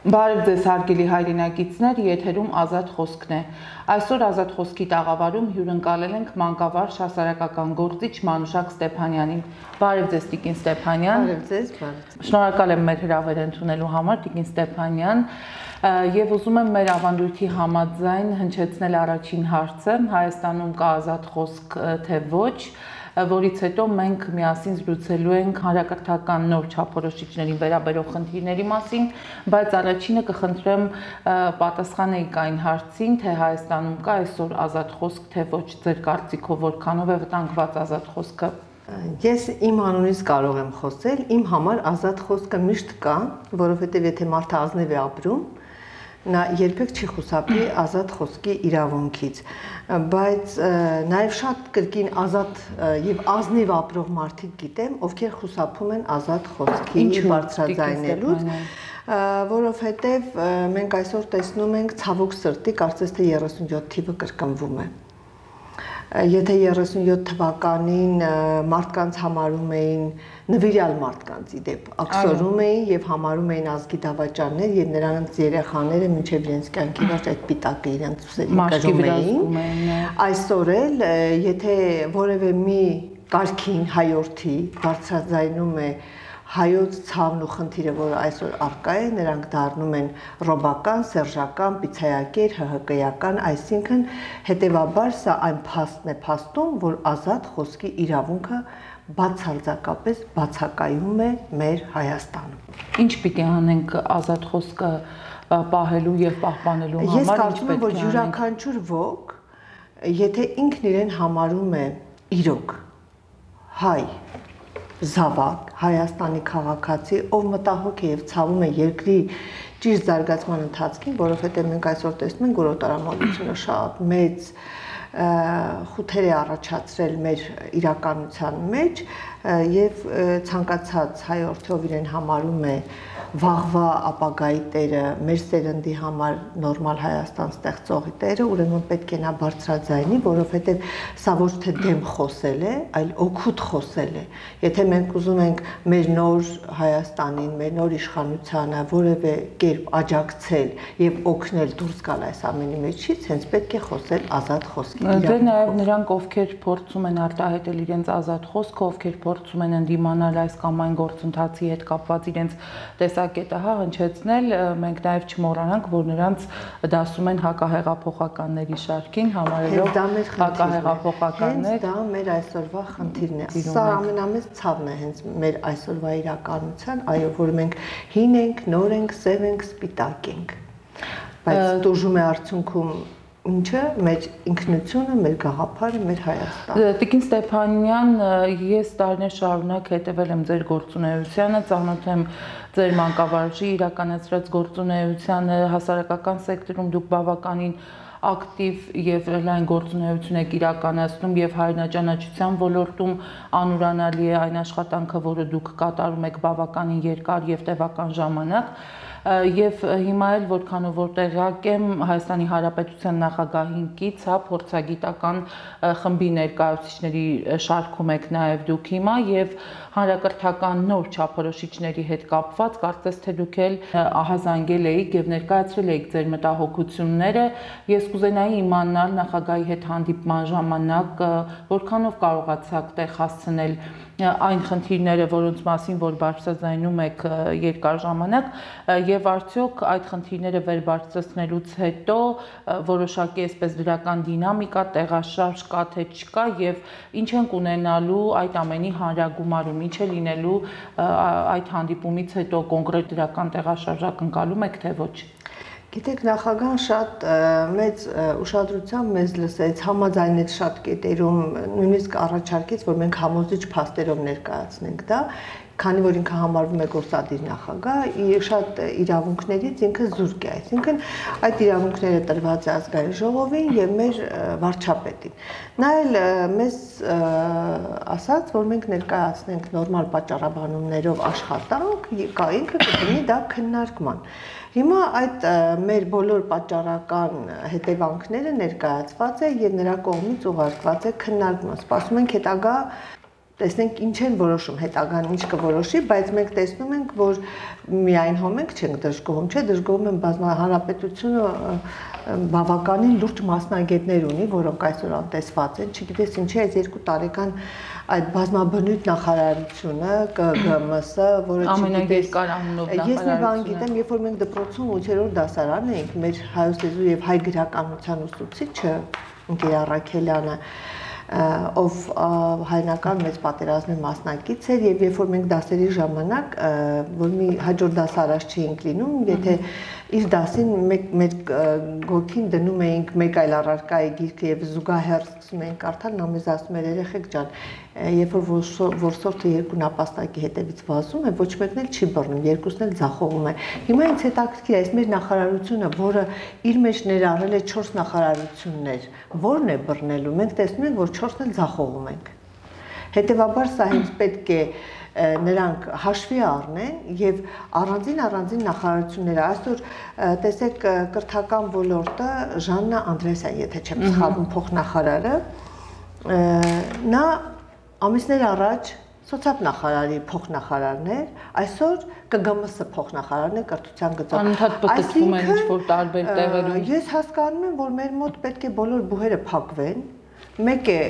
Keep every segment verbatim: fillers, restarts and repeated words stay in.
Բարև ձեզ հարգելի հայրենակիցներ, եթերում ազատ խոսքն է։ Այսօր ազատ խոսքի տաղավարում հյուրընկալել ենք մանկավարժ հասարակական գործիչ Մանուշակ Ստեփանյանին։ Բարև ձեզ Տիկին Ստեփանյան։ Բարև ձեզ, բարև։ Շնորհակալ եմ մեր հրավերը ընդունելու համար, Տիկին Ստեփանյան, եւ ուզում եմ մեր ավանդույթի համաձայն հնչեցնել առաջին հարցը՝ Հայաստանում կա ազատ խոսք թե ոչ, որից հետո մենք միասին զրուցելու ենք հանրակրթական նոր չափորոշիչներին վերաբերող խնդիրների մասին, բայց առաջինը կխնդրեմ պատասխանեիք այն հարցին, թե Հայաստանում կա այսօր ազատ խոսք թե ոչ, ձեր կարծիքով որքանով է վտանգված ազատ խոսքը։ Ես իմ անունից կարող եմ խոսել, իմ համար ազատ խոսքը միշտ կա, որովհետև եթե մարդը ազնիվ է ապրում, նա երբեք չի խուսափի ազատ խոսքի իրավունքից, բայց նաև շատ կրկին ազատ եւ ազնիվ ապրող մարդիկ գիտեմ, ովքեր խուսափում են ազատ խոսքի բարձրաձայնելուց, որովհետև մենք այսօր տեսնում ենք ցավոք սրտի, կարծես թե երեսունյոթ թիվը կրկնվում է։ Եթե երեսունյոթ թվականին մարդկանց համարում էին նվիրյալ մարդկանց իդեպ աքսորում էին եւ համարում էին ազգի դավաճաններ եւ նրանց երեխաները մինչեւ իրենց կյանքի վերջ այդ պիտակը իրենց ուսերին կրում էին, այսօր էլ եթե որևէ մի կարգին հայորդի բարձրաձայնում է հայոց ցավն ու խնդիրը, որը այսօր առկա է, նրանք դառնում են ռոբական, սերժական, պիցայակեր, ՀՀԿ-ական, այսինքն հետևաբար սա այն փաստն է փաստում, որ ազատ խոսքի իրավունքը բացարձակապես բացակայում է մեր Հայաստանում։ Ինչ պիտի անենք ազատ խոսքը պահելու եւ պահպանելու համար։ Ես կարծում եմ, որ յուրաքանչյուր ոք, եթե ինքն իրեն համարում է իրոք հայ զավակ, Հայաստանի քաղաքացի, ով մտահոգ է եւ ցավում է երկրի ճիշտ զարգացման ընթացքին, որովհետեւ մենք այսօր տեսնում ենք, որ օտարամոլությունը շատ մեծ խութեր է առաջացրել մեր իրականության մեջ եւ ցանկացած հայորդի, ով իրեն համարում է վաղվա ապագայի տերը, մեր սերնդի համար նորմալ Հայաստան ստեղծողի տերը, ուրեմն պետք է նա բարձրաձայնի, որովհետև սա ոչ թե դեմ խոսել է, այլ օգուտ խոսել է։ Եթե մենք ուզում ենք մեր նոր Հայաստանին, մեր նոր իշխանությանը որևէ կերպ աջակցել եւ օգնել դուրս գալ այս ամենի մեջից, հենց պետք է խոսել ազատ խոսքի իրավունքով։ Դե նաեւ նրանք, ովքեր փորձում են արտահայտել իրենց ազատ խոսքը, ովքեր փորձում են ընդդիմանալ այս կամ այն գործընթացի հետ կապված իրենց տեսակետը հա հնչեցնել, մենք նաև չմոռանանք, որ նրանց դասում են հակահեղափոխականների շարքին, համարելով հակահեղափոխականներ։ Դա մեր այսօրվա խնդիրն է։ Սա ամենամեծ ցավն է հենց մեր այսօրվա իրականության, այո, որ մենք հին ենք, նոր ենք, սև ենք, սպիտակ ենք։ Բայց դժում է արդյունքում ինչը մեր ինքնությունը, մեր գաղափարը, մեր Հայաստանը։ Տիկին Ստեփանյան, ես տարիներ շարունակ հետևել եմ ձեր գործունեությանը, ծանոթ եմ ձեր մանկավարժի իրականացրած գործունեությանը, հասարակական սեկտորում դուք բավականին ակտիվ եւ լայն գործունեություն եք իրականացնում եւ հայրենաճանաչության ոլորտում անուրանալի է այն աշխատանքը, որը դուք կատարում եք բավականին երկար եւ տևական ժամանակ։ Եվ հիմա էլ որքանով որ տեղյակ եմ Հայաստանի Հանրապետության նախագահին կից, հա, փորձագիտական խմբի ներկայացուցիչների շարքում եք նաև դուք հիմա եւ հանրակրթական նոր չափորոշիչների հետ կապված կարծես թե դուք էլ ահազանգել եք եւ ներկայացրել եք ձեր մտահոգությունները։ Ես կուզենայի իմանալ նախագահի հետ հանդիպման ժամանակ որքանով կարողացաք տեղ հասցնել այն խնդիրները, որոնց մասին որ բարձրաձայնում եք երկար ժամանակ, եւ արդյոք այդ խնդիրները վերբարձրացնելուց հետո որոշակի այսպես դրական դինամիկա, տեղաշարժ կա թե չկա եւ ինչ ենք ունենալու այդ ամենի հանրագումարում, ինչ է լինելու այդ հանդիպումից հետո կոնկրետ դրական տեղաշարժ ակնկալում եք թե ոչ։ Գիտեք, նախագահան շատ մեծ ուշադրությամբ մեզ լսեց, համաձայնեց շատ կետերում, նույնիսկ առաջարկեց, որ մենք համոզիչ փաստերով ներկայացնենք դա, քանի որ ինքը համարվում է գործադիր նախագահ, շատ իրավունքներից ինքը զուրկ է, այսինքն այդ իրավունքները տրված է ազգային ժողովին եւ մեր վարչապետին։ Նա էլ մեզ ասաց, որ մենք ներկայացնենք նորմալ պատճառաբանումներով աշխատանք, ինքը կդնի դա քննարկման։ Հիմա այդ մեր բոլոր պատճառական հետևանքները ներկայացված է եւ նրա կողմից ուղարկված է քննարկման։ Սպասում ենք հետագա տեսնենք ինչ են որոշում, հետագան ինչ կորոշի, բայց մենք տեսնում ենք, որ միայն հոմենք չենք դժգոհում, չէ, դժգոհում են բազմահանրապետությունը բավականին լուրջ մասնագետներ ունի, որոնք այսօր անտեսված են, չգիտես ինչի այս երկու տարեկան այդ բազմաբնույթ նախարարությունը, Կ Գ M S-ը, որը ամենաերկար անունով նախարարությունը։ Ես մի բան գիտեմ, երբ որ մենք դպրոցում ութերորդ դասարան էինք, մեր հայոց լեզու եւ հայ գրականության ուսուցիչը Ընկեր Առաքելյանը, ով հայնական մեծ պատերազմի մասնակից էր եւ երբ որ մենք դասերի ժամանակ որ մի հաջորդ դաս առաջ չէինք լինում, եթե իր դասին մեր գոքին դնում էինք մեկ այլ առարկայի գիրքը եւ զուգահեռ սկսում էինք կարդալ, նա մեզ ասում էր երեխեք ջան, երբ որ որսորդը երկու նապաստակի հետևից վազում է, ոչ մեկն էլ չի բռնում, երկուսն էլ ձախողում է։ Հիմա ինձ հետաքրքիր է, այս մեր նախարարությունը, որը իր մեջ ներառել է չորս նախարարություններ, ո՞րն է բռնելու։ Մենք տեսնում ենք, որ չորսն էլ ձախողում ենք։ Հետևաբար սա հենց պետք է նրանք հաշվի առնեն եւ առանձին առանձին նախարարությունները այսօր տեսեք կրթական ոլորտը Ժաննա Անդրեասյան, եթե չեմ սխալվում, փոխնախարարը, նա ամիսներ առաջ սոցիալ-նախարարի փոխնախարարն էր, այսօր Կ Գ M S փոխնախարարն է կրթության գծով։ Անընդհատ պտտվում են ինչ-որ տարբեր տեղերում։ Ես հասկանում եմ, որ մեր մոտ պետք է բոլոր բուհերը փակվեն, մեկ է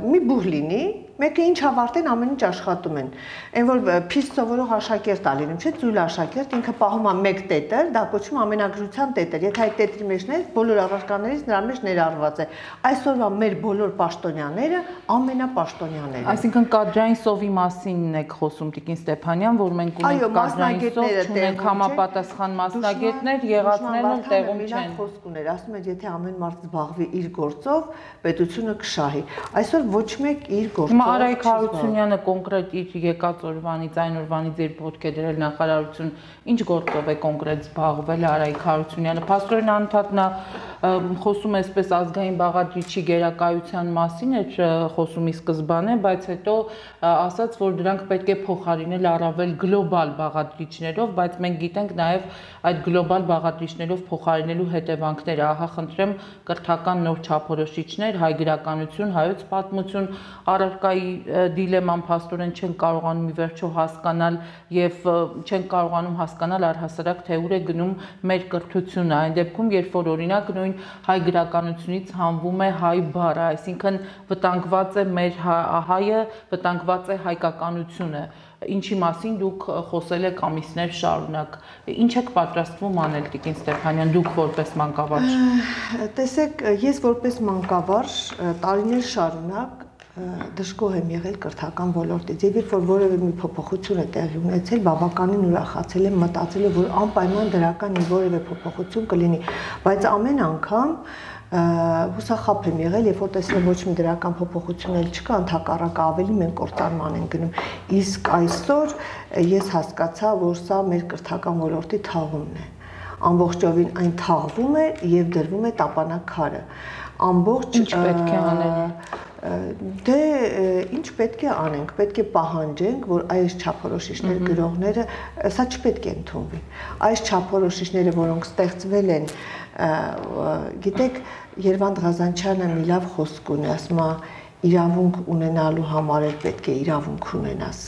մի բուհ լինի, մեկը ինչ ավարտեն, ամեն ինչ աշխատում են։ Այն որ փիստ սովորող աշակերտ ա լինում, չէ՞, ծույլ աշակերտ, ինքը պահում է մեկ տետր, դա կոչվում է ամենագրության տետր։ Եթե այդ տետրի մեջն է, բոլոր առարկաներից նրա մեջ ներառված է։ Այսօրվա մեր բոլոր պաշտոնյաները ամենապաշտոնյաներն են։ Այսինքն կադրային սովի մասինն եք խոսում, Տիկին Ստեփանյան, որ մենք ունենք կադրային սով, չունենք համապատասխան մասնագետներ, եղածներն էլ տեղում չեն։ Խոսք ուներ, ասում են, եթե ամեն մարդ զբաղվի իր գործով, պետությունը կշահի։ Այսօր ոչ մեկ իր գործով Արայք Հարությունյանը կոնկրետ իր եկած օրվանից, այն օրվանից երբ ոտք է դրել նախարարություն, ինչ գործով է կոնկրետ զբաղվել Արայք Հարությունյանը։ Փաստորեն անընդհատ նա խոսում է այսպես ազգային բաղադրիչի գերակայության մասին էր խոսումի սկզբանե, բայց հետո ասաց, որ դրանք պետք է փոխարինել առավել գլոբալ բաղադրիչներով, բայց մենք գիտենք նաև այդ գլոբալ բաղադրիչներով փոխարինելու հետևանքները։ Ահա խնդրեմ կրթական նոր չափորոշիչներ, հայ գրականություն, հայոց պատմություն, առարկայի դիլեման փաստորեն չեն կարողանում ի վերջո հասկանալ եւ չեն կարողանում հասկանալ առհասարակ թե ուր է գնում մեր կրթությունը։ Այն դեպքում, երբ որ օրինակ նույն հայ գրականությունից հանվում է հայ բառը, այսինքն վտանգված է մեր հայը, վտանգված է հայկականությունը, ինչի մասին դուք խոսել եք ամիսներ շարունակ։ Ինչ եք պատրաստվում անել, Տիկին Ստեփանյան, դուք որպես մանկավարժ։ Տեսեք, ես որպես մանկավարժ տարիներ շարունակ դժգոհ եմ եղել կրթական ոլորտից եւ երբ որ որևէ մի փոփոխություն է տեղի ունեցել, բավականին ուրախացել եմ, մտածել որ անպայման դրական մի որևէ փոփոխություն կլինի, բայց ամեն անգամ հուսախաբ եմ եղել, երբ որ տեսել եմ ոչ մի դրական փոփոխություն էլ չկա, ընդհակառակը ավելի մենք կործանման ենք գնում։ Իսկ այսօր ես հասկացա, որ սա մեր կրթական ոլորտի թաղումն է։ Ամբողջովին այն թաղվում է եւ դրվում է տապանակքարը։ Ամբողջ ինչ պետք է անել։ Դե ինչ պետք է անենք, պետք է պահանջենք, որ այս չափորոշիչներ գրողները, սա չպետք է ընդունվի։ Այս չափորոշիչները, որոնք ստեղծվել են, գիտեք, Երվանդ Ղազանչյանը մի լավ խոսք ունի, ասում է, իրավունք ունենալու համար էլ պետք է իրավունք ունենաս։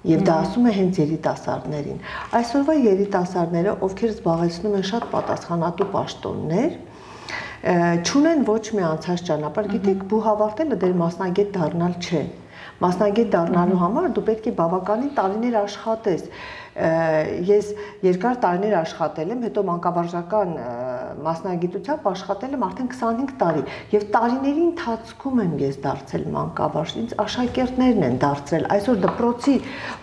Եվ դա ասում է հենց երիտասարդներին։ Այսօրվա երիտասարդները, ովքեր զբաղեցնում են շատ պատասխանատու պաշտոններ, չունեն ոչ մի անցած ճանապարհ, գիտեք, բուհ ավարտելը դեր մասնագետ դառնալ չէ։ Մասնագետ դառնալու համար դու պետք է բավականին տարիներ աշխատես։ Ես երկար տարիներ աշխատել եմ, հետո մանկավարժական մասնագիտությամբ աշխատել եմ արդեն քսանհինգ տարի եւ տարիների ընթացքում եմ ես դարձել մանկավարժ, ինձ աշակերտներն են դարձրել, այսօր դպրոցի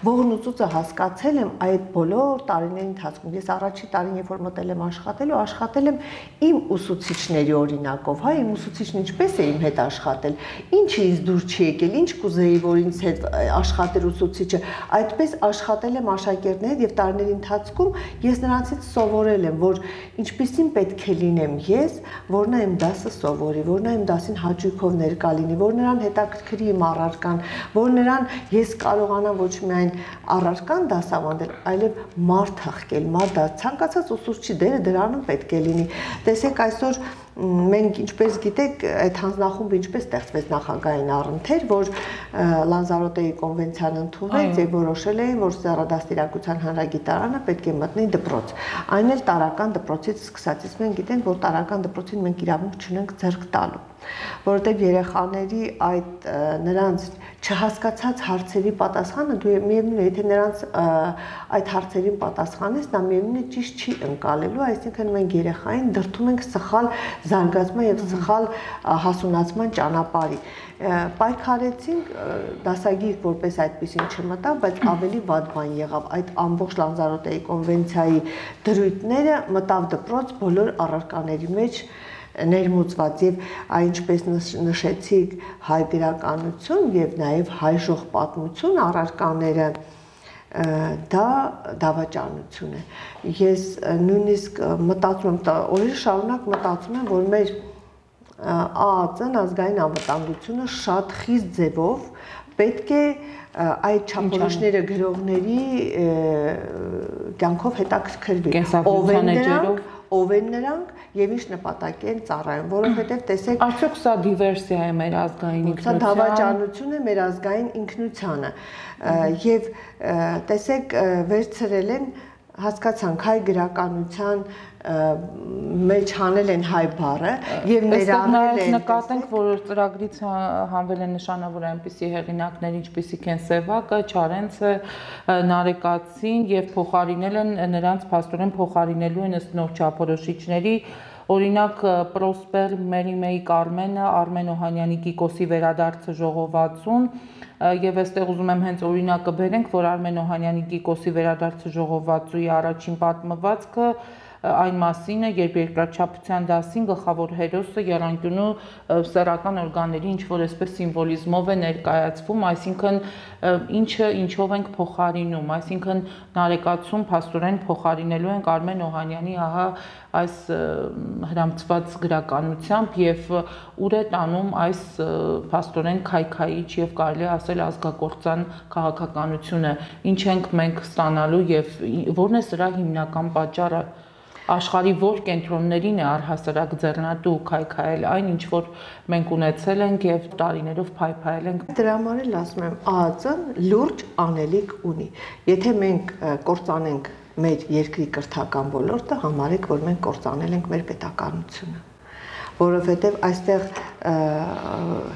ողնուծուցը հասկացել եմ այդ բոլոր տարիների ընթացքում։ Ես առաջի տարին, երբ որ մտել եմ աշխատելու, աշխատել եմ իմ ուսուցիչների օրինակով, հա, իմ ուսուցիչն ինչպես է իմ հետ աշխատել, ինչը ինձ դուր չի եկել, ինչ կուզեի, որ ինձ հետ աշխատեր ուսուցիչը, այդպես աշխատել եմ աշակերտների եւ տարիների ընթացքում ես նրանցից սովորել եմ, որ ինչպիսին պետք է լինեմ ես, որ նա իմ դասը սովորի, որ նա իմ դասին հաճույքով ներկա լինի, որ նրան հետաքրքրի իմ առարկան, որ նրան ես կարողանամ ոչ միայն առարկան դասավանդել, այլև մարդ հղկել, մարդ ցանկացած ուսուցչի դերը դրանում պետք է լինի։ Տեսեք, այսօր մենք ինչպես գիտեք, այդ հանձնախումբը ինչպես ստեղծվեց նախագահային առընթեր, որ Լանզարոտեի կոնվենցիան ընդունվեց եւ որոշել էին, որ սեռադաստիարակության հանրագիտարանը պետք է մտնի դպրոց։ Այն էլ տարական դպրոցից սկսած, իսկ մենք գիտենք, որ տարական դպրոցին մենք իրավունք չունենք ձեռք տալու, որովհետեւ երեխաների այդ նրանց չհասկացած հարցերի պատասխանը դու միևնույն է, եթե նրանց այդ հարցերին պատասխանես, նա միևնույն է ճիշտ չի ընկալելու, այսինքն մենք երեխային դրդում ենք սխալ զարգացման եւ սխալ հասունացման ճանապարհի։ Պայքարեցինք, դասագիր որպես այդպեսին չմտավ, բայց ավելի վատ բան եղավ, այդ ամբողջ Լանզարոտեի կոնվենցիայի դրույթները մտավ դպրոց բոլոր առարկաների մեջ ներմուծված եւ այնպես նշեցիք հայ գրականություն եւ նաեւ հայ ժող պատմություն առարկաները դա դավաճանություն է։ Ես նույնիսկ մտածում եմ, օրեր շարունակ մտածում եմ, որ մեր ԱԱԾ-ն ազգային անվտանգությունը շատ խիստ ձևով պետք է այդ չափորոշիչները գրողների կյանքով հետաքրքրվի, ով են նրանք, ով են նրանք եւ ինչ նպատակի են ծառայում, որովհետեւ տեսեք, արդյոք սա դիվերսիա է մեր ազգային ինքնության, սա դավաճանություն է մեր ազգային ինքնությանը եւ տեսեք վերցրել են, հասկացանք հայ գրականության մեջ հանել են հայ բառը եւ ներառել են, նկատենք, որ ծրագրից հանվել են նշանավոր այնպիսի հեղինակներ, ինչպիսիք են Սևակը, Չարենցը, Նարեկացին եւ փոխարինել են նրանց փաստորեն փոխարինելու են ըստ նոր չափորոշիչների, օրինակ Պրոսպեր Մերիմեի Կարմենը, Արմեն Օհանյանի Կիկոսի վերադարձը ժողովածուն եւ այստեղ ուզում եմ հենց օրինակը բերենք, որ Արմեն Օհանյանի Կիկոսի վերադարձը ժողովածուի առաջին պատմվածքը այն մասին է, երբ երկրաչափության դասին գլխավոր հերոսը եռանկյունու սեռական օրգանների ինչ-որ այսպես սիմվոլիզմով է ներկայացվում, այսինքն ինչը ինչով ենք փոխարինում, այսինքն Նարեկացում փաստորեն փոխարինելու ենք Արմեն Օհանյանի ահա այս հրամցված գրականությամբ եւ ուր է տանում այս փաստորեն քայքայիչ եւ կարելի ասել ազգակործան քաղաքականությունը, ինչ ենք մենք ստանալու եւ որն է սրա հիմնական պատճառը, աշխարհի որ կենտրոններին է առհասարակ ձեռնատու քայքայել այն, ինչ որ մենք ունեցել ենք եւ տարիներով փայփայել ենք։ Դրա համար էլ ասում եմ, ԱԱԾ-ն լուրջ անելիք ունի։ Եթե մենք կործանենք մեր երկրի կրթական ոլորտը, համարեք, որ մենք կործանել ենք մեր պետականությունը, որովհետև այստեղ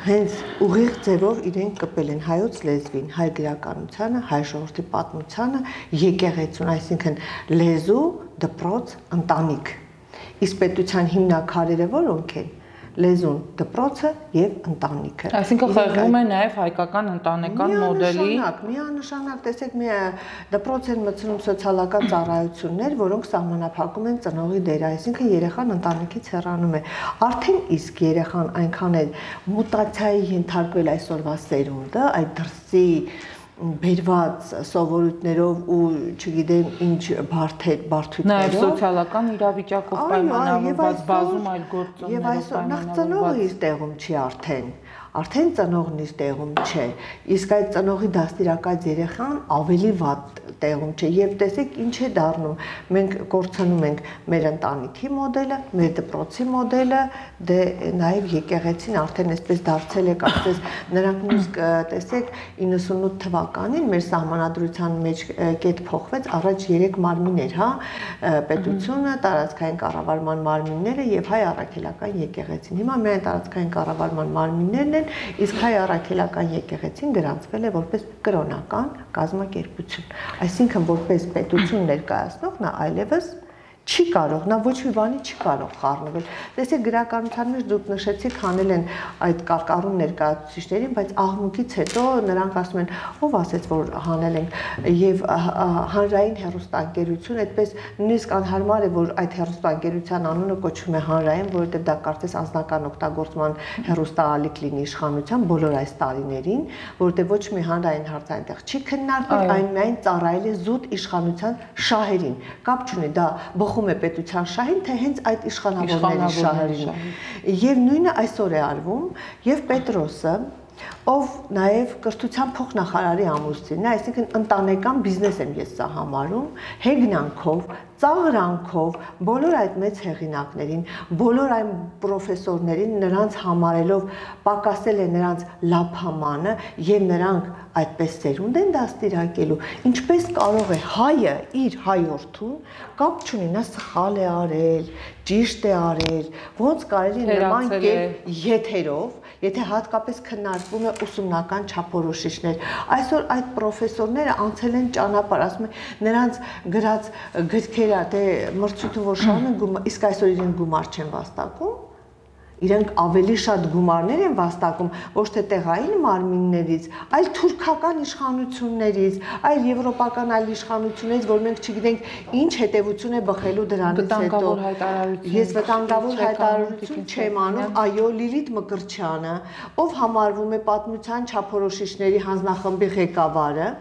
հենց ուղիղ ձևով իրենք կպել են հայոց լեզվին, հայ գրականությանը, հայ ժողովրդի պատմությանը, եկեղեցուն, այսինքն լեզու, դպրոց, ընտանիք։ Իսկ պետության հիմնաքարերը որոնք են։ Լեզուն, դպրոցը եւ ընտանիքը։ Այսինքն խեղվում է նաեւ հայկական ընտանեկան մոդելի։ Միանշանակ, միանշանակ, տեսեք, մի դպրոց են մտցնում սոցիալական ծառայություններ, որոնք սահմանափակում են ծնողի դերը, այսինքն երեխան ընտանիքից հեռանում է։ Արդեն իսկ երեխան այնքան է մուտացիայի ենթարկվել այսօրվա սերունդը, այդ դրսի բերված սովորույթներով ու չգիտեմ ինչ բարդեր, բարդություններով, նաև սոցիալական իրավիճակով պայմանավորված բազում այլ գործոններով եւ այսօր նախ ծնողը իր տեղում չի արդեն, արդեն ծնողն իր տեղում չէ, իսկ այդ ծնողի դաստիարակած երեխան ավելի վատ տեղում չէ եւ տեսեք ինչ է դառնում, մենք կորցնում ենք մեր ընտանիքի մոդելը, մեր դպրոցի մոդելը, դե նաեւ եկեղեցին արդեն այսպես դարձել է, կարծես նրանք նույնիսկ տեսեք իննսունութ թվականին մեր սահմանադրության մեջ կետ փոխվեց, առաջ երեք մարմին էր, հա, պետությունը, տարածքային կառավարման մարմինները եւ հայ առաքելական եկեղեցին։ Հիմա միայն տարածքային կառավարման մարմիններն են, իսկ հայ առաքելական եկեղեցին գրանցվել է որպես կրոնական կազմակերպություն։ Այսինքն որպես պետություն ներկայացնող նա այլևս չի կարող, նա ոչ մի բանի չի կարող խառնվել։ Տեսեք գրականության մեջ դուք նշեցիք հանել են այդ կարկառուն ներկայացուցիչներին, բայց աղմուկից հետո նրանք ասում են, ով ասեց, որ հանել ենք, եւ հանրային հեռուստաընկերություն, այդպես նույնիսկ անհարմար է, որ այդ հեռուստաընկերության անունը կոչվում է հանրային, որովհետեւ դա կարծես անձնական օգտագործման հեռուստաալիք լինի իշխանության բոլոր այս տարիներին, որովհետեւ ոչ մի հանրային հարց այնտեղ չի քննարկվել, այն միայն ծառայել է զուտ իշխանության շահերին։ Կապ չունի դա բխում է պետության շահին, թե հենց այդ իշխանավորների շահերին։ Եվ նույնը այսօր է արվում, եւ Պետրոսը ով նաև կրթության փոխնախարարի ամուսինն է, այսինքն ընտանեկան բիզնես եմ ես սա համարում, հեգնանքով, ծաղրանքով, բոլոր այդ մեծ հեղինակներին, բոլոր այն պրոֆեսորներին նրանց համարելով պակասել է նրանց լափամանը եւ նրանք այդպես սերունդ են դաստիարակելու, ինչպես կարող է հայը իր հայորդուն կապ չունի, նա սխալ է արել, ճիշտ է արել, ոնց կարելի նման կերպ եթերով, եթե հատկապես քննարկվում է ուսումնական չափորոշիչներ, այսօր այդ պրոֆեսորները անցել են ճանապարհ, ասում են նրանց գրած գրքերը, թե մրցույթը որ շարունակում, իսկ այսօր իրեն գումար չեն վաստակում, իրենք ավելի շատ գումարներ են վաստակում ոչ թե տեղային մարմիններից, այլ թուրքական իշխանություններից, այլ եվրոպական այլ իշխանություններից, որ մենք չգիտենք ինչ հետևություն է բխելու դրանից հետո։ Ես վտանգավոր հայտարարություն չեմ անում, այո, Լիլիթ Մկրտչյանը, ով համարվում է պատմության չափորոշիչների հանձնախմբի ղեկավարը,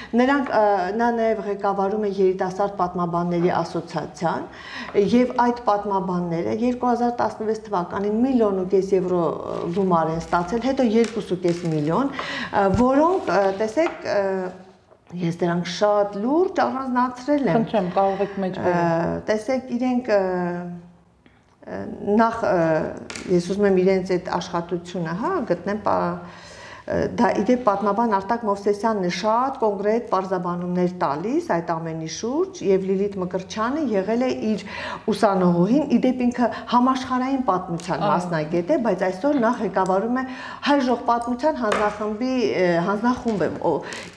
նրանք նա նաև ղեկավարում է երիտասարդ պատմաբանների ասոցիացիան եւ այդ պատմաբանները երկու հազար տասնվեց թվականին միլիոն ու կես եվրո գումար են ստացել, հետո երկու ու կես միլիոն, որոնք տեսեք ես դրանք շատ լուրջ առանձնացրել եմ։ Խնդրեմ, կարող եք մեջ բերել։ Տեսեք, իրենք նախ ես ուզում եմ իրենց այդ աշխատությունը, հա, գտնեմ դա իդեպ պատմաբան Արտակ Մովսեսյանն է շատ կոնկրետ պարզաբանումներ տալիս այդ ամենի շուրջ եւ Լիլիթ Մկրտչյանը եղել է իր ուսանողուհին, իդեպ ինքը համաշխարհային պատմության մասնագետ է, բայց այսօր նա ղեկավարում է հայ ժողովրդության հանձնախմբի հանձնախումբը,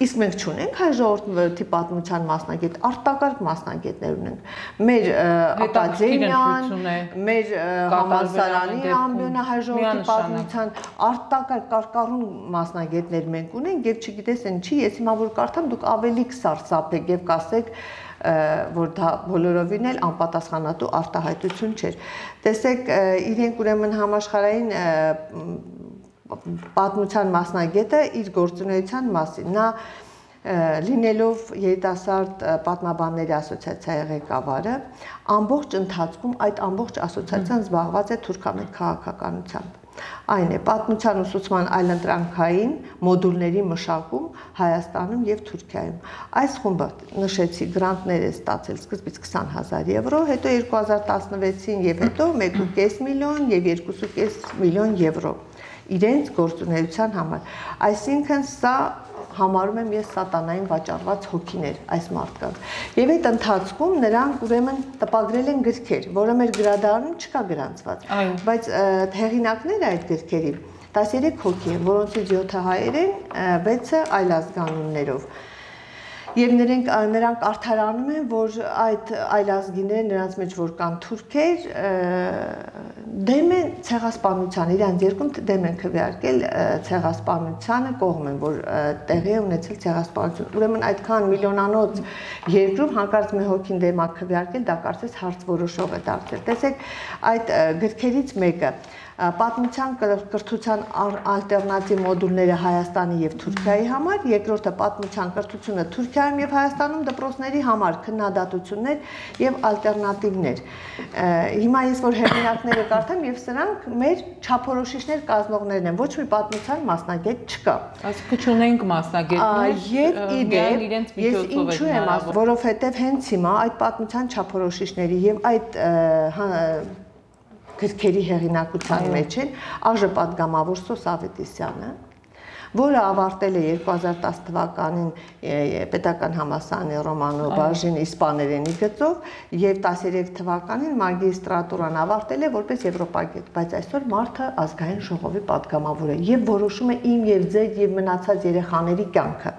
իսկ մենք չունենք հայ ժողովրդի պատմության մասնագետ, արտակարգ մասնագետներ ունենք։ Մեր ակադեմիան, մեր համալսարանի ամբիոնը հայ ժողովրդի պատմության արտակարգ կարկառուն մասնագետներ մենք ունենք եւ չգիտես ինչի, ես հիմա որ կարդամ դուք ավելի կսարսափեք եւ կասեք, որ դա բոլորովին էլ անպատասխանատու արտահայտություն չէր։ Տեսեք, իրենք ուրեմն համաշխարհային պատմության մասնագետը իր գործունեության մասին, նա լինելով երիտասարդ պատմաբանների ասոցիացիայի ղեկավարը, ամբողջ ընթացքում այդ ամբողջ ասոցիացիան զբաղված է թուրքամետ քաղաքականությամբ։ Այն է պատմության ուսուցման այլընտրանքային մոդուլների մշակում Հայաստանում եւ Թուրքիայում։ Այս խումբը նշեցի գրանտներ է ստացել սկզբից քսան հազար եվրո, հետո երկու հազար տասնվեցին եւ հետո մեկ ու կես միլիոն եւ երկու ու կես միլիոն եվրո իրենց գործունեության համար։ Այսինքն սա համարում եմ ես սատանային վաճառված հոգիներ այս մարդկանց։ Եվ այդ ընթացքում նրանք ուրեմն տպագրել են գրքեր, որը մեր գրադարանում չկա գրանցված, բայց հեղինակները այդ գրքերի տասներեք հոգի են, որոնցից յոթը հայեր են, վեցը այլազգանուններով։ Եվ նրանք նրանք արդարանում են, որ այդ այլազգիները նրանց մեջ որ կան թուրքեր, դեմ են ցեղասպանության, իրանց երկում դեմ են քվեարկել ցեղասպանությանը, կողմ են, որ տեղի է ունեցել ցեղասպանություն։ Ուրեմն այդքան միլիոնանոց երկրում հանկարծ մի հոգին դեմ է քվեարկել, դա կարծես հարց որոշող է դարձել։ Տեսեք, այդ գրքերից մեկը պատմության կրթության ալտերնատիվ մոդուլները Հայաստանի եւ Թուրքիայի համար, երկրորդը պատմության կրթությունը Թուրքիայում եւ Հայաստանում դպրոցների համար քննադատություններ եւ ալտերնատիվներ։ Հիմա ես որ հեղինակները կարդամ եւ սրանք մեր չափորոշիչներ կազմողներն են, ոչ մի պատմության մասնագետ չկա։ Այսինքն չունենք մասնագետներ եւ իրենց ես ինչու եմ ասում, որովհետեւ հենց հիմա այդ պատմության չափորոշիչների եւ այդ գրքերի հեղինակության մեջ են ԱԺ պատգամավոր Սոս Ավետիսյանը, որը ավարտել է երկու հազար տասը թվականին Պետական համալսարանի Ռոմանո բաժին իսպաներենի գծով եւ տասներեք թվականին մագիստրատուրան ավարտել է որպես եվրոպագետ, բայց այսօր մարդը ազգային ժողովի պատգամավոր է եւ որոշում է իմ եւ ձեր եւ մնացած երեխաների կյանքը։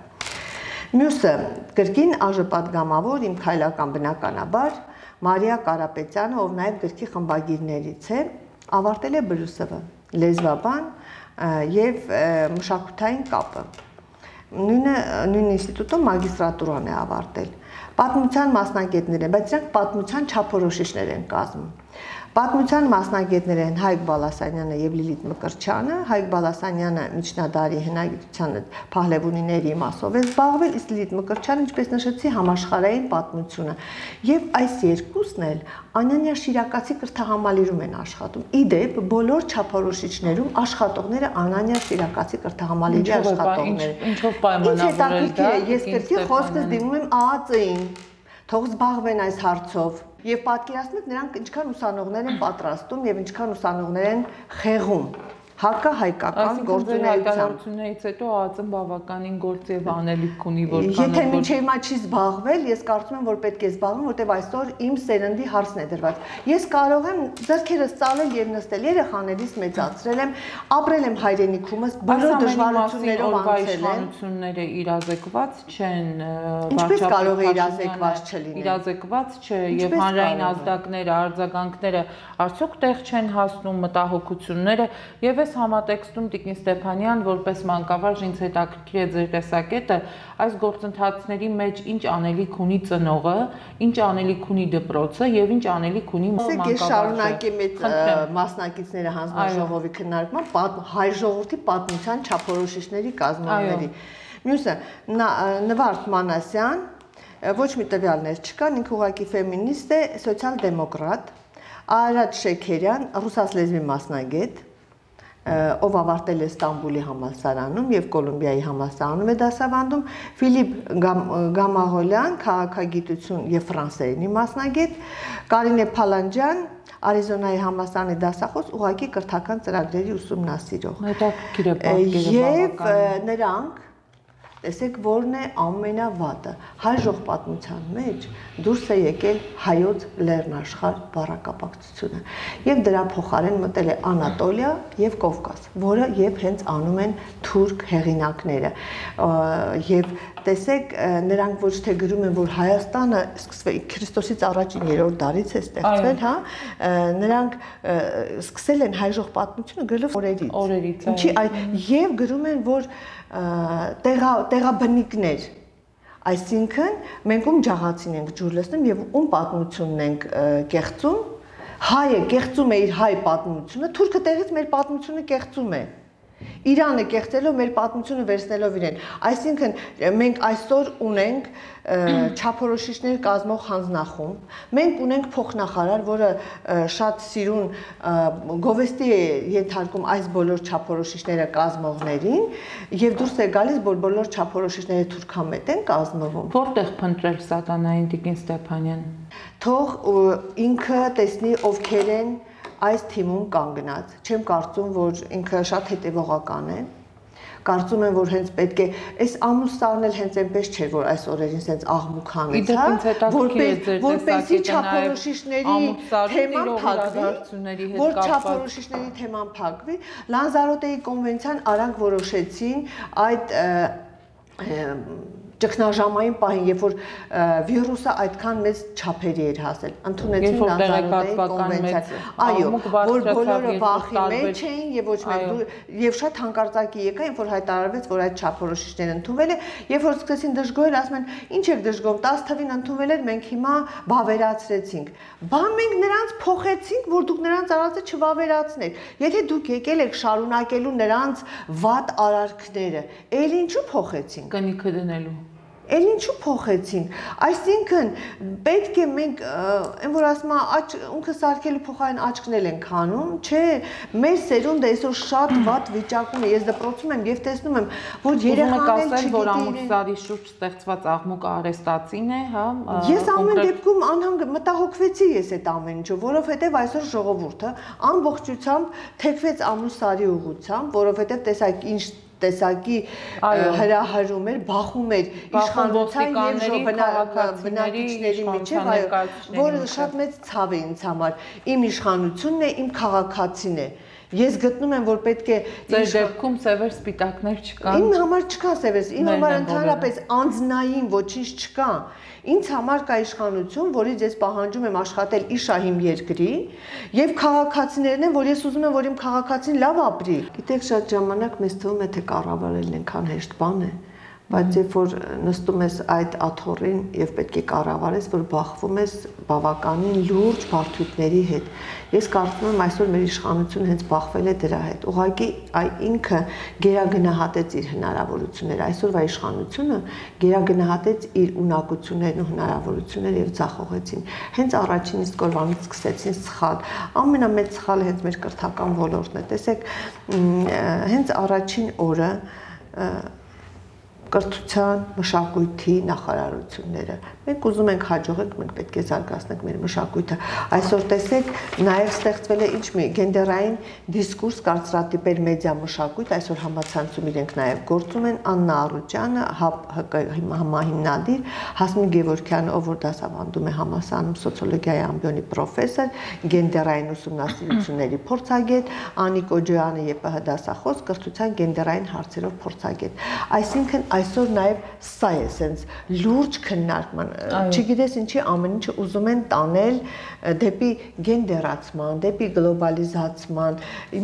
Մյուսը գրքին ԱԺ պատգամավոր իմ քայլական բնականաբար Մարիա Կարապետյանը, ով նաև գրքի խմբագիրներից է, ավարտել է B L S V, լեզվաբան եւ մշակութային կապը։ Նույնը նույն ինստիտուտում մագիստրատուրան է ավարտել։ Պատմության մասնագետներ են, բայց նրանք պատմության չափորոշիչներ են կազմում։ Պատմության մասնագետներ են Հայկ Բալասանյանը եւ Լիլիթ Մկրտչյանը, Հայկ Բալասանյանը միջնադարի հնագիտության փահլևունիների մասով է զբաղվել, իսկ Լիլիթ Մկրտչյանը, ինչպես նշեցի, համաշխարհային պատմությունը։ Եվ այս երկուսն էլ Անանյա Շիրակացի կրթահամալիրում են աշխատում։ Իդեպ բոլոր չափորոշիչներում աշխատողները Անանյա Շիրակացի կրթահամալիրի աշխատողներ են։ Ինչով պայմանավորել դա։ Ես կրկին խոսքս դիմում եմ ԱԱԾ-ին, թող զբաղվեն այս հարցով։ Եվ պատկերացնում եք նրանք ինչքան ուսանողներ են պատրաստում եւ ինչքան ուսանողներ են խեղում հակահայկական գործունեությամբ։ Հայտարարություններից հետո ԱԱԾ-ն բավականին գործ եւ անելիք ունի, որքան Եթե մինչեւ հիմա չի զբաղվել, ես կարծում եմ, որ պետք է զբաղվեմ, որտեւ այսօր իմ սերնդի հարցն է դրված։ Ես կարող եմ ձեռքերս ծալել եւ նստել, երեխաներիս մեծացրել եմ, ապրել եմ հայրենիքումս, բոլոր դժվարություններով անցել եմ։ Իշխանությունները իրազեկված չեն, Ինչպես կարող է իրազեկված չլինել։ Իրազեկված չէ եւ հանրային ազդակները, արձագանքները արդյոք տեղ չեն հասնում, մտահոգությունները եւ այս համատեքստում Տիկին Ստեփանյան որպես մանկավարժ ինձ հետաքրքիր է ձեր տեսակետը այս գործընթացների մեջ ինչ անելիք ունի ծնողը, ինչ անելիք ունի դպրոցը եւ ինչ անելիք ունի մանկավարժը։ Ես շարունակեմ այդ մասնակիցները հանձնաժողովի քննարկման հայ ժողովրդի պատմության չափորոշիչների կազմողների։ Մյուսը Նվարդ Մանասյան, ոչ մի տվյալներ չկան, ինքը ուղղակի ֆեմինիստ է, սոցիալ-դեմոկրատ, Արադ Շեքերյան, ռուսաց լեզվի մասնագետ, ով ավարտել է Ստամբուլի համալսարանում եւ Կոլումբիայի համալսարանում է դասավանդում, Ֆիլիպ Գամաղոլյան, քաղաքագիտություն եւ ֆրանսերենի մասնագետ, Կարինե Փալանջյան, Արիզոնայի համալսարանի դասախոս, ուղղակի կրթական ծրագրերի ուսումնասիրող։ Հետաքրքիր է պատկերը Եվ նրանք տեսեք որն է ամենավատը հայ ժողովրդության մեջ դուրս է եկել հայոց լեռնաշխարհ բառակապակցությունը եւ դրա փոխարեն մտել է Անատոլիա եւ Կովկաս, որը եւ հենց անում են թուրք հեղինակները եւ տեսեք նրանք ոչ թե գրում են որ Հայաստանը սկսվել Քրիստոսից առաջին երրորդ դարից է ստեղծվել, հա, նրանք սկսել են հայ ժողովրդությունը գրելով օրերից։ Օրերից, Ինչի այդ եւ գրում են որ տեղա տեղաբնիկներ, այսինքն մենք ում ջաղացին ենք ջուր լցնում եւ ում պատմությունն ենք կեղծում, հայը կեղծում է իր հայ պատմությունը, թուրքը տեղից մեր պատմությունը կեղծում է։ Իրանը կեղծելով մեր պատմությունը վերցնելով իրեն։ Այսինքն մենք այսօր ունենք չափորոշիչներ կազմող հանձնախումբ, մենք ունենք փոխնախարար, որը շատ սիրուն գովեստի է ենթարկում այս բոլոր չափորոշիչները կազմողներին եւ դուրս է գալիս, որ բոլոր չափորոշիչները թուրքամետ են կազմվում։ Որտեղ փնտրել սատանային Տիկին Ստեփանյան։ Թող ինքը տեսնի ովքեր են այս թիմում կանգնած, չեմ կարծում, որ ինքը շատ հետևողական է, կարծում եմ, որ հենց պետք է, այս ամուսարն էլ հենց այնպես չէր, որ այս օրերին սենց աղմուկ հանեցա, որպեսի չափորոշիչների թեման փակվի, որ չափորոշիչների թեման փակվի, Լանզարոտեի կոնվենցիան արանք որոշեցին այդ ճգնաժամային պահին, երբ որ վիրուսը այդքան մեծ չափերի էր հասել, ընդունեցին Լանզարոտեի կոնվենցիան։ Այո, որ բոլորը վախի մեջ էին եւ ոչ մեկ եւ շատ հանկարծակի եկա, երբ որ հայտարարվեց, որ այդ չափորոշիչները ընդունվել է, երբ որ սկսեցին դժգոհել, ասում են, ինչ եք դժգոհում, տասը թվին ընդունվել էր, մենք հիմա վավերացրեցինք։ Բա մենք նրանց փոխեցինք, որ դուք նրանց արածը չվավերացնեք։ Եթե դուք եկել եք շարունակելու նրանց վատ արարքները, ել ինչու փոխեցինք։ Կնիքը դնելու։ Էլ ինչու փոխեցինք։ Այսինքն պետք է մենք այն որ ասում աչ ունքը սարքելու փոխարեն աչքնել են քանում, չէ, մեր սերունդը այսօր շատ վատ վիճակում է։ Ես դպրոցում եմ եւ տեսնում եմ, որ երեխաները չգիտեն, որ ամուսարի շուրջ ստեղծված աղմուկը արեստացին է, հա։ Ես ամեն դեպքում անհանգ մտահոգվեցի ես այդ ամեն ինչը, որովհետեւ այսօր ժողովուրդը ամբողջությամբ թեքվեց ամուսարի ուղղությամբ, որովհետեւ տեսակ ինչ տեսակի հրահրում էր, բախում էր իշխանության եւ բնակիչների միջեւ, որը շատ մեծ ցավ է ինձ համար։ Իմ իշխանությունն է, իմ քաղաքացին է։ Ես գտնում եմ, որ պետք է ձեր դեպքում սևեր սպիտակներ չկան։ Իմ համար չկա սևեր, իմ համար ընդհանրապես անձնային ոչինչ չկա։ Ինձ համար կա իշխանություն, որից ես պահանջում եմ աշխատել իշահիմ երկրի, եւ քաղաքացիներն են, որ ես ուզում եմ, որ իմ քաղաքացին լավ ապրի։ Գիտեք, շատ ժամանակ մեզ թվում է, թե կառավարելն այնքան հեշտ բան է, բայց երբ որ նստում ես այդ աթոռին եւ պետք է կառավարես, որ բախվում ես բավականին լուրջ բարդությունների հետ։ Ես կարծում եմ այսօր մեր իշխանությունը հենց բախվել է դրա հետ։ Ուղղակի այ ինքը գերագնահատեց իր հնարավորությունները։ Այսօրվա իշխանությունը գերագնահատեց իր ունակություններն ու հնարավորությունները եւ ձախողեցին։ Հենց առաջին իսկ օրվանից սկսեցին սխալ։ Ամենամեծ սխալը հենց մեր կրթական ոլորտն է։ Տեսեք, հենց առաջին օրը կրթության, մշակույթի նախարարությունները։ Մենք ուզում ենք հաջողենք, մենք պետք է զարգացնենք մեր մշակույթը։ Այսօր տեսեք, նաև ստեղծվել է ինչ մի գենդերային դիսկուրս կարծրատիպեր մեդիա մշակույթ, այսօր համացանցում իրենք նաև գործում են Աննա Արուջյանը, համահիմնադիր, Հասմիկ Գևորգյանը, ով որ դասավանդում է համալսարանում սոցիոլոգիայի ամբիոնի պրոֆեսոր, գենդերային ուսումնասիրությունների փորձագետ, Անիկ Օջոյանը ԵՊՀ դասախոս, կրթության գենդերային հարցերով փորձագետ։ Այսինքն այսօր նաև սա է սենց լուրջ քննարկման, չգիտես ինչի ամեն ինչը ուզում են տանել դեպի գենդերացման, դեպի գլոբալիզացման։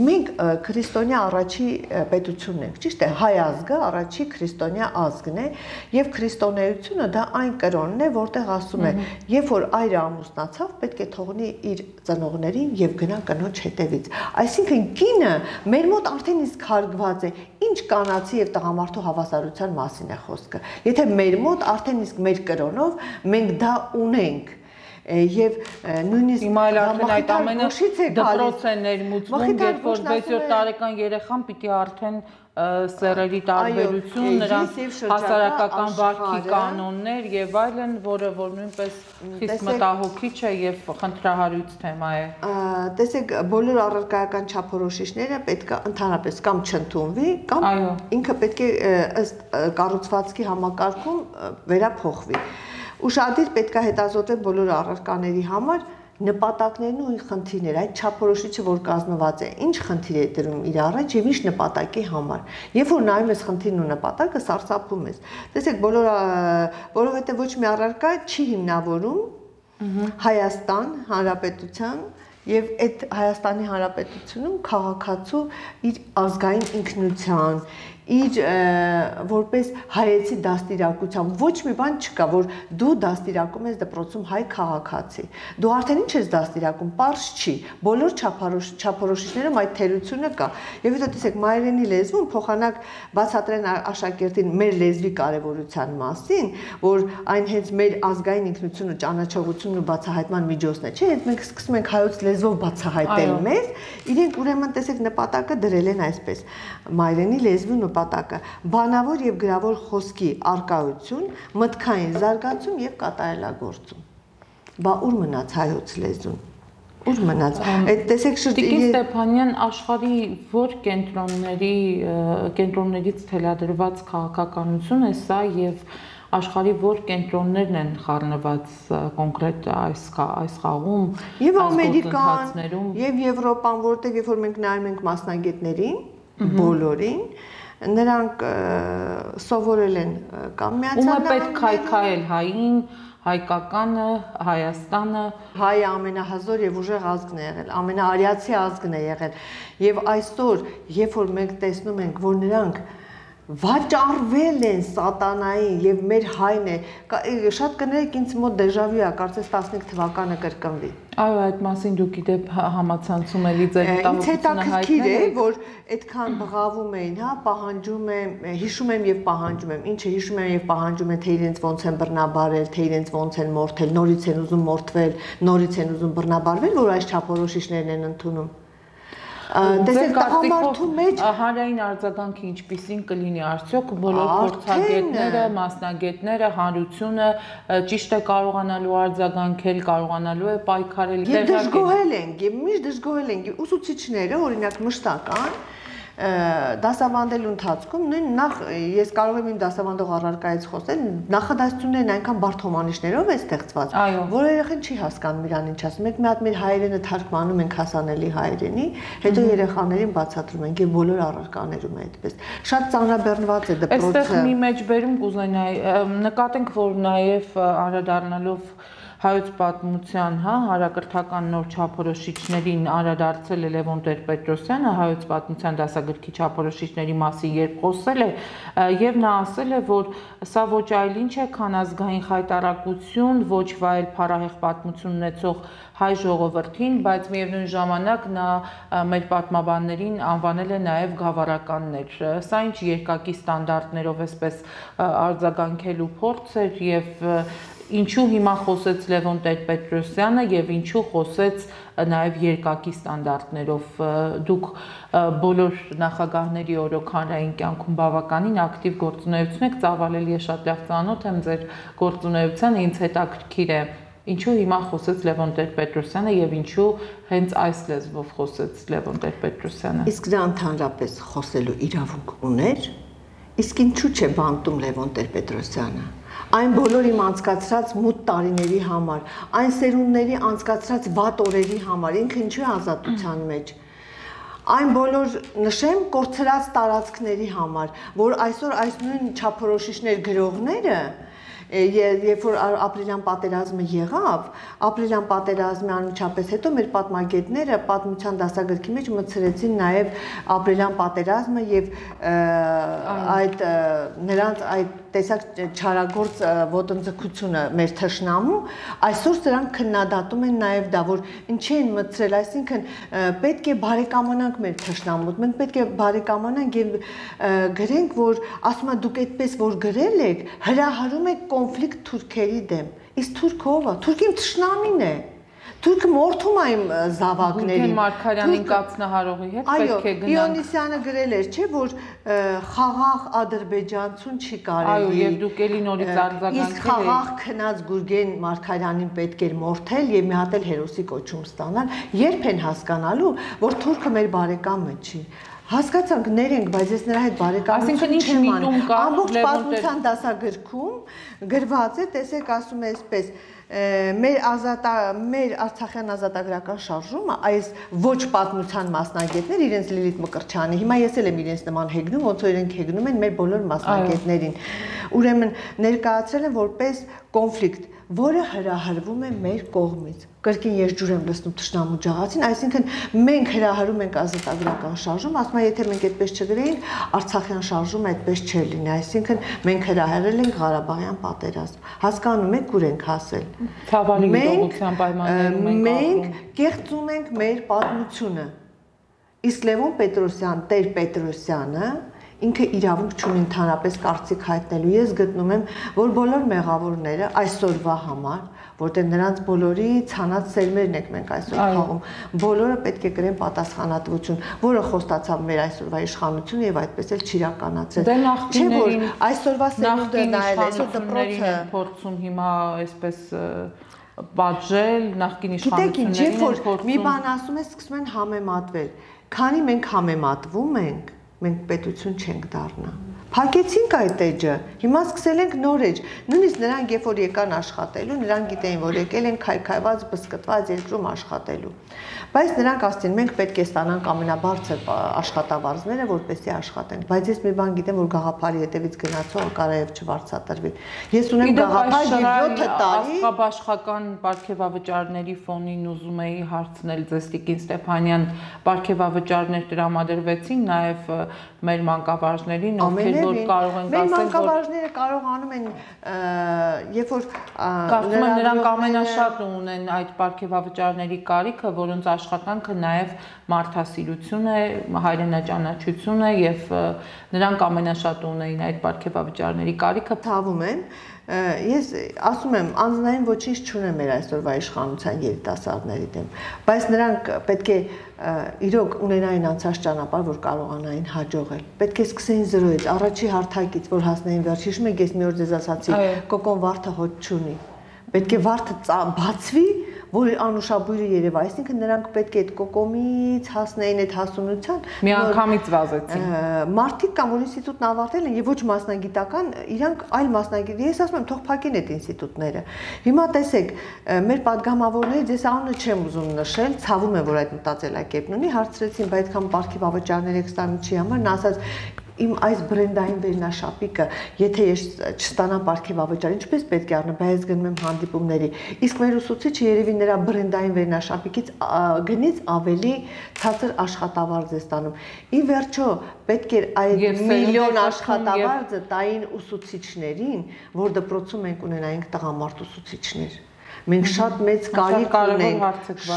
Մենք քրիստոնյա առաջի պետությունն ենք, ճիշտ է, հայ ազգը առաջի քրիստոնյա ազգն է, եւ քրիստոնեությունը դա այն կրոնն է, որտեղ ասում է, երբ որ այրը ամուսնացավ, պետք է թողնի իր ծնողներին եւ գնա կնոջ հետևից։ Այսինքն կինը մեր մոտ արդեն իսկ հարգված է, ինչ կանացի եւ տղամարդու հավասարության մասին է խոսքը։ Եթե մեր մոտ արդեն իսկ մեր կրոնով մենք դա ունենք եւ նույնիսկ հիմա էլ արդեն այդ ամենը դպրոց է ներմուծվում, երբ որ վեց-յոթ տարեկան երեխան պիտի արդեն սերերի տարբերություն, նրանց հասարակական վարքի կանոններ եւ այլն, որը որ նույնպես խիստ մտահոգիչ է եւ խնդրահարույց թեմա է։ Տեսեք, բոլոր առարկայական չափորոշիչները պետք է ընդհանրապես կամ չընդունվի, կամ ինքը պետք է ըստ կառուցվածքի համակարգում վերափոխվի։ Ուշադիր պետք է հետազոտել բոլոր առարկաների համար նպատակներն ու խնդիրները, այդ չափորոշիչը, որ կազմված է, ինչ խնդիր է դրում իր առաջ եւ ինչ նպատակի համար։ Երբ որ նայում ես խնդիրն ու նպատակը, սարսափում ես։ Տեսեք, բոլոր, որովհետեւ ոչ մի առարկա չի հիմնավորում Հայաստան Հանրապետության եւ այդ Հայաստանի Հանրապետությունում քաղաքացու իր ազգային ինքնության, իր որպես հայեցի դաստիարակության ոչ մի բան չկա, որ դու դաստիարակում ես դպրոցում հայ քաղաքացի։ Դու արդեն ինչ ես դաստիարակում, պարզ չի։ Բոլոր չափորոշիչներում այդ թերությունը կա։ Եվ հետո տեսեք, մայրենի լեզվում փոխանակ բացատրեն աշակերտին մեր լեզվի կարևորության մասին, որ այն հենց մեր ազգային ինքնությունը, ճանաչողությունն ու բացահայտման միջոցն է, չէ՞, հենց մենք սկսում ենք հայոց լեզվով բացահայտել մեզ, իրենք ուրեմն տեսեք նպատակը դրել են այսպես. մայրենի լեզվի նպատակը բանավոր եւ գրավոր խոսքի արկայություն, մտքային զարգացում եւ կատարելագործում։ Բա ուր մնաց հայոց լեզուն։ Ուր մնաց։ Այդ տեսեք Տիկին Ստեփանյան, աշխարհի որ կենտրոնների կենտրոններից թելադրված քաղաքականություն է սա եւ աշխարհի որ կենտրոններն են խառնված կոնկրետ այս այս խաղում, եւ Ամերիկան, եւ Եվրոպան, որտեղ երբ որ մենք նայում ենք մասնագետներին, բոլորին, նրանք սովորել են կամ միացյալ նահանգները, ում է պետք քայքայել հային, հայկականը, Հայաստանը, հայը ամենահզոր եւ ուժեղ ազգն է եղել, ամենաարիացի ազգն է եղել, եւ այսօր, երբ որ մենք տեսնում ենք, որ նրանք վաճառվել են սատանային եւ մեր հայն է, շատ կներեք ինձ մոտ դեժավյու է, կարծես տասնհինգ թվականը կրկնվի։ Այո, այդ մասին դուք իդեպ համացանցում ելի ձեր մտահոգությունը հայտնել եք, որ այդքան բղավում էին, հա, պահանջում եմ, հիշում եմ եւ պահանջում եմ, ինչը հիշում եմ եւ պահանջում եմ, թե իրենց ոնց են բռնաբարել, թե իրենց ոնց են մորթել, նորից են ուզում մորթվել, նորից են ուզում բռնաբարվել, որ այս չափորոշիչներն են ընդունում։ Տեսեք, տղամարդու մեջ հանրային արձագանքը ինչպիսին կլինի արդյոք բոլոր փորձագետները, մասնագետները, հանրությունը ճիշտ է կարողանալու արձագանքել, կարողանալու է պայքարել, եւ դժգոհել են, եւ միշտ դժգոհել են, ուսուցիչները, օրինակ մշտական դասավանդելու ընթացքում նույն նախ ես կարող եմ իմ դասավանդող առարկայից խոսել, նախադասություններն այնքան բարդ հոմանիշներով է ստեղծված, որ երեխան չի հասկանում իրան ինչ ասում։ Մենք մի հատ մեր հայերենը թարգմանում ենք հասանելի հայերենի, հետո երեխաներին բացատրում ենք եւ բոլոր առարկաներում է այդպես։ Շատ ծանրաբեռնված է դպրոցը։ Այստեղ մի մեջբերում կուզենայի նկատենք, որ նաեւ անդրադառնալով հայոց պատմության, հա, հարակրթական նոր չափորոշիչներին անդրադարձել է Լևոն Տեր-Պետրոսյանը, հայոց պատմության դասագրքի չափորոշիչների մասին երբ խոսել է, եւ նա ասել է, որ սա ոչ այլ ինչ է, քան ազգային խայտառակություն, ոչ վայել փառահեղ պատմություն ունեցող հայ ժողովրդին, բայց միևնույն ժամանակ նա մեր պատմաբաններին անվանել է նաև գավառականներ։ Սա ինչ երկակի ստանդարտներով էսպես արձագանքելու փորձ էր եւ ինչու հիմա խոսեց Լևոն Տեր-Պետրոսյանը եւ ինչու խոսեց նաև երկակի ստանդարտներով։ Դուք բոլոր նախագահների օրոքանային կյանքում բավականին ակտիվ գործունեություն եք ծավալել, ես շատ լավ ծանոթ եմ ձեր գործունեությանը, ինձ հետաքրքիր է ինչու հիմա խոսեց Լևոն Տեր-Պետրոսյանը եւ ինչու հենց այս լեզվով խոսեց Լևոն Տեր-Պետրոսյանը։ Իսկ նա ընդհանրապես խոսելու իրավունք ուներ, իսկ ինչու՞ չէ բանտում Լևոն Տեր-Պետրոսյանը։ Այն բոլոր իմ անցկացրած մութ տարիների համար, այն սերունդների անցկացրած վատ օրերի համար, ինքը ինչու է ազատության մեջ։ Այն բոլոր նշեմ կորցրած տարածքների համար, որ այսօր այս նույն չափորոշիչներ գրողները երբ որ ապրիլյան պատերազմը եղավ, ապրիլյան պատերազմի անմիջապես հետո մեր պատմագետները պատմության դասագրքի մեջ մտցրեցին նաև ապրիլյան պատերազմը եւ այդ նրանց այդ տեսակ չարագործ ոտնձգությունը մեր թշնամու, այսօր սրանք քննադատում են նաև դա, որ ինչի են մտցրել, այսինքն պետք է բարեկամանանք մեր թշնամուց, մենք պետք է բարեկամանանք եւ գրենք, որ ասում եմ դուք այդպես որ գրել եք, հրահարում եք կոնֆլիկտ թուրքերի դեմ։ Իսկ թուրքը ով է? Թուրքին թշնամին է։ Թուրքը մորթում է իմ զավակներին։ Գուրգեն Մարգարյանին կացնահարողի հետ պետք է գնանք։ Իոնիսյանը գրել էր, չէ, որ խաղաղ ադրբեջանցուն չի կարելի։ Այո, եւ դուք էլի նորից արձագանքել եք։ Իսկ խաղաղ քնած Գուրգեն Մարգարյանին պետք էր մորթել եւ մի հատ էլ հերոսի կոչում ստանալ։ Երբ են հասկանալու, որ թուրքը մեր բարեկամը չի։ Հասկացանք, ներենք, բայց ես նրա հետ բարեկամություն չեմ անում։ Ամբողջ պատմության դասագրքում գրված է, տեսեք, ասում է այսպես, մեր ազատա մեր Արցախյան ազատագրական շարժումը այս ոչ պատմության մասնագետներ իրենց Լիլիթ Մկրտչյանի, հիմա ես էլ եմ իրենց նման հեգնում, ոնց որ իրենք հեգնում են մեր բոլոր մասնագետներին, ուրեմն ներկայացրել են որպես կոնֆլիկտ, որը հրահրվում է մեր կողմից։ Կրկին ես ջուր եմ լցնում թշնամու ջահացին, այսինքն մենք հրահրում ենք ազատագրական շարժում, ասում եմ, եթե մենք այդպես չգրեինք, Արցախյան շարժումը այդպես չէր լինի, այսինքն մենք հրահրել ենք Ղարաբաղյան պատերազմ։ Հասկանում եք, ուր ենք հասել։ Ցավալի գիտողության պայմաններում ենք մենք կեղծում ենք մեր պատմությունը։ Իսկ Լևոն Պետրոսյան, Տեր-Պետրոսյանը ինքը իրավունք չունի ընդհանրապես կարծիք հայտնելու։ Ես գտնում եմ, որ բոլոր մեղավորները այսօրվա համար, որտեղ նրանց բոլորի ցանած սերմերն ենք մենք այսօր խաղում, բոլորը պետք է կրեն պատասխանատվություն, որը խոստացավ մեր այսօրվա իշխանությունը եւ այդպես էլ չիրականացրել։ Դե նախկիներին այսօրվա սերունդը նայել, այսօր դպրոցը փորձում հիմա այսպես պատժել նախկին իշխանություններին։ Գիտեք ինչ, երբ որ մի բան ասում է, սկսում են համեմատվել։ Քանի մենք համեմատվում ենք, մենք պետություն չենք դառնա։ Փակեցինք այդ էջը, հիմա սկսել ենք նոր էջ։ Նույնիսկ նրանք երբ որ եկան աշխատելու, նրանք գիտեին, որ եկել են քայքայված, բսկտված երկրում աշխատելու։ Բայց նրանք ասցին, մենք պետք է ստանանք ամենաբարձր աշխատավարձները, որպեսզի աշխատենք։ Բայց ես մի բան գիտեմ, որ գաղափարի հետևից գնացողը կարայև չվարձատրվի։ Ես ունեմ գաղափար եւ յոթ տարի Աշխաբաշխական պարգևավճարների ֆոնին ուզում էի հարցնել ձեզ Տիկին Ստեփանյան, պարգևավճարներ տրամադրվեցին նաեւ մեր մանկավարժներին, ովքեր որ կարող են ասել, որ մեր մանկավարժները կարողանում են, երբ որ կարծում եմ նրանք ամենաշատը ունեն այդ պարգևավճարների կարիքը, որոնց աշխատանքը նաև մարդասիրություն է, հայրենաճանաչություն է եւ նրանք ամենաշատը ունեին այդ պարգևավճարների կարիքը։ Թավում են, ես ասում եմ, անձնային ոչինչ չունեմ մեր այսօրվա իշխանության երիտասարդների դեմ, բայց նրանք պետք է իրոք ունենային անցած ճանապարհ, որ կարողանային հաջողել։ Պետք է սկսեին զրոյից, առաջի հարթակից, որ հասնեին վերջ։ Հիշում եք, ես մի օր ձեզ ասացի, կոկոն վարդը հոտ չունի։ Պետք է վարդը բացվի, որ անուշաբույրը երևա, այսինքն նրանք պետք է այդ կոկոմից հասնեին այդ հասունության։ Մի անգամից վազեցին։ Մարդիկ կամ որ ինստիտուտն ավարտել են եւ ոչ մասնագիտական, իրանք այլ մասնագիտ, ես ասում եմ, թող փակեն այդ ինստիտուտները։ Հիմա տեսեք, մեր падգամավորներից ես անունը չեմ ուզում նշել, ցավում եմ, որ այդ մտածելակերպն ունի, հարցրեցին, բայց այդքան պարգևավճարներ եք ստանում չի համար, նա ասաց իմ այս բրենդային վերնաշապիկը, եթե ես չստանամ պարգև ավճար, ինչպես պետք է առնեմ, բայց գնում եմ հանդիպումների։ Իսկ մեր ուսուցիչը երևի նրա բրենդային վերնաշապիկից գնից ավելի ցածր աշխատավարձ է ստանում։ Ի վերջո, պետք է այդ միլիոն աշխատավարձը տային ուսուցիչներին, որ դպրոցում մենք ունենայինք տղամարդ ուսուցիչներ։ Մենք շատ մեծ կարիք ունենք,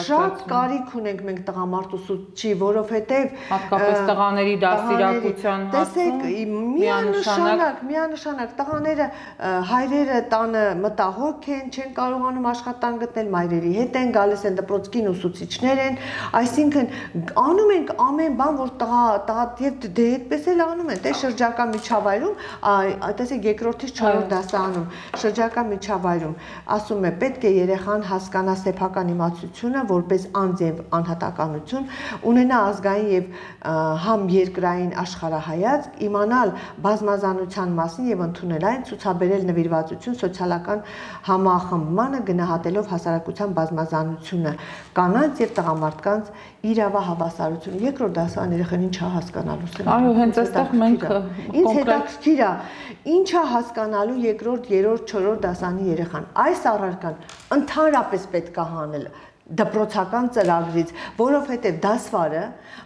շատ կարիք ունենք մենք տղամարդ ուսուցչի, որովհետև հատկապես տղաների դաստիարակության հարցում միանշանակ, միանշանակ տղաները հայրերը տանը մտահոգ են, չեն կարողանում աշխատանք գտնել, մայրերի հետ են գալիս են դպրոց կին ուսուցիչներ են, այսինքն անում ենք ամեն բան, որ տղա տղա եւ դե այդպես էլ անում են, դե շրջակա միջավայրում, տեսեք երկրորդից չորրորդ դասարանում, շրջակա միջավայրում ասում է պետք է երեխան հասկանա սեփական իմացությունը որպես անձ եւ անհատականություն, ունենա ազգային եւ համ երկրային աշխարհայացք, իմանալ բազմազանության մասին եւ ընդունել այն, ցուցաբերել նվիրվածություն սոցիալական համախմբմանը, գնահատելով հասարակության բազմազանությունը, կանանց եւ տղամարդկանց իրավահավասարություն։ Երկրորդ դասարան երեխան ինչ է հասկանալու։ Այո, հենց այստեղ մենք ինձ հետաքրքիր է, ինչ է հասկանալու երկրորդ, երրորդ, չորրորդ դասարանի երեխան։ Այս առարկան ընդհանրապես պետք է հանել դպրոցական ծրագրից, որովհետև դասվարը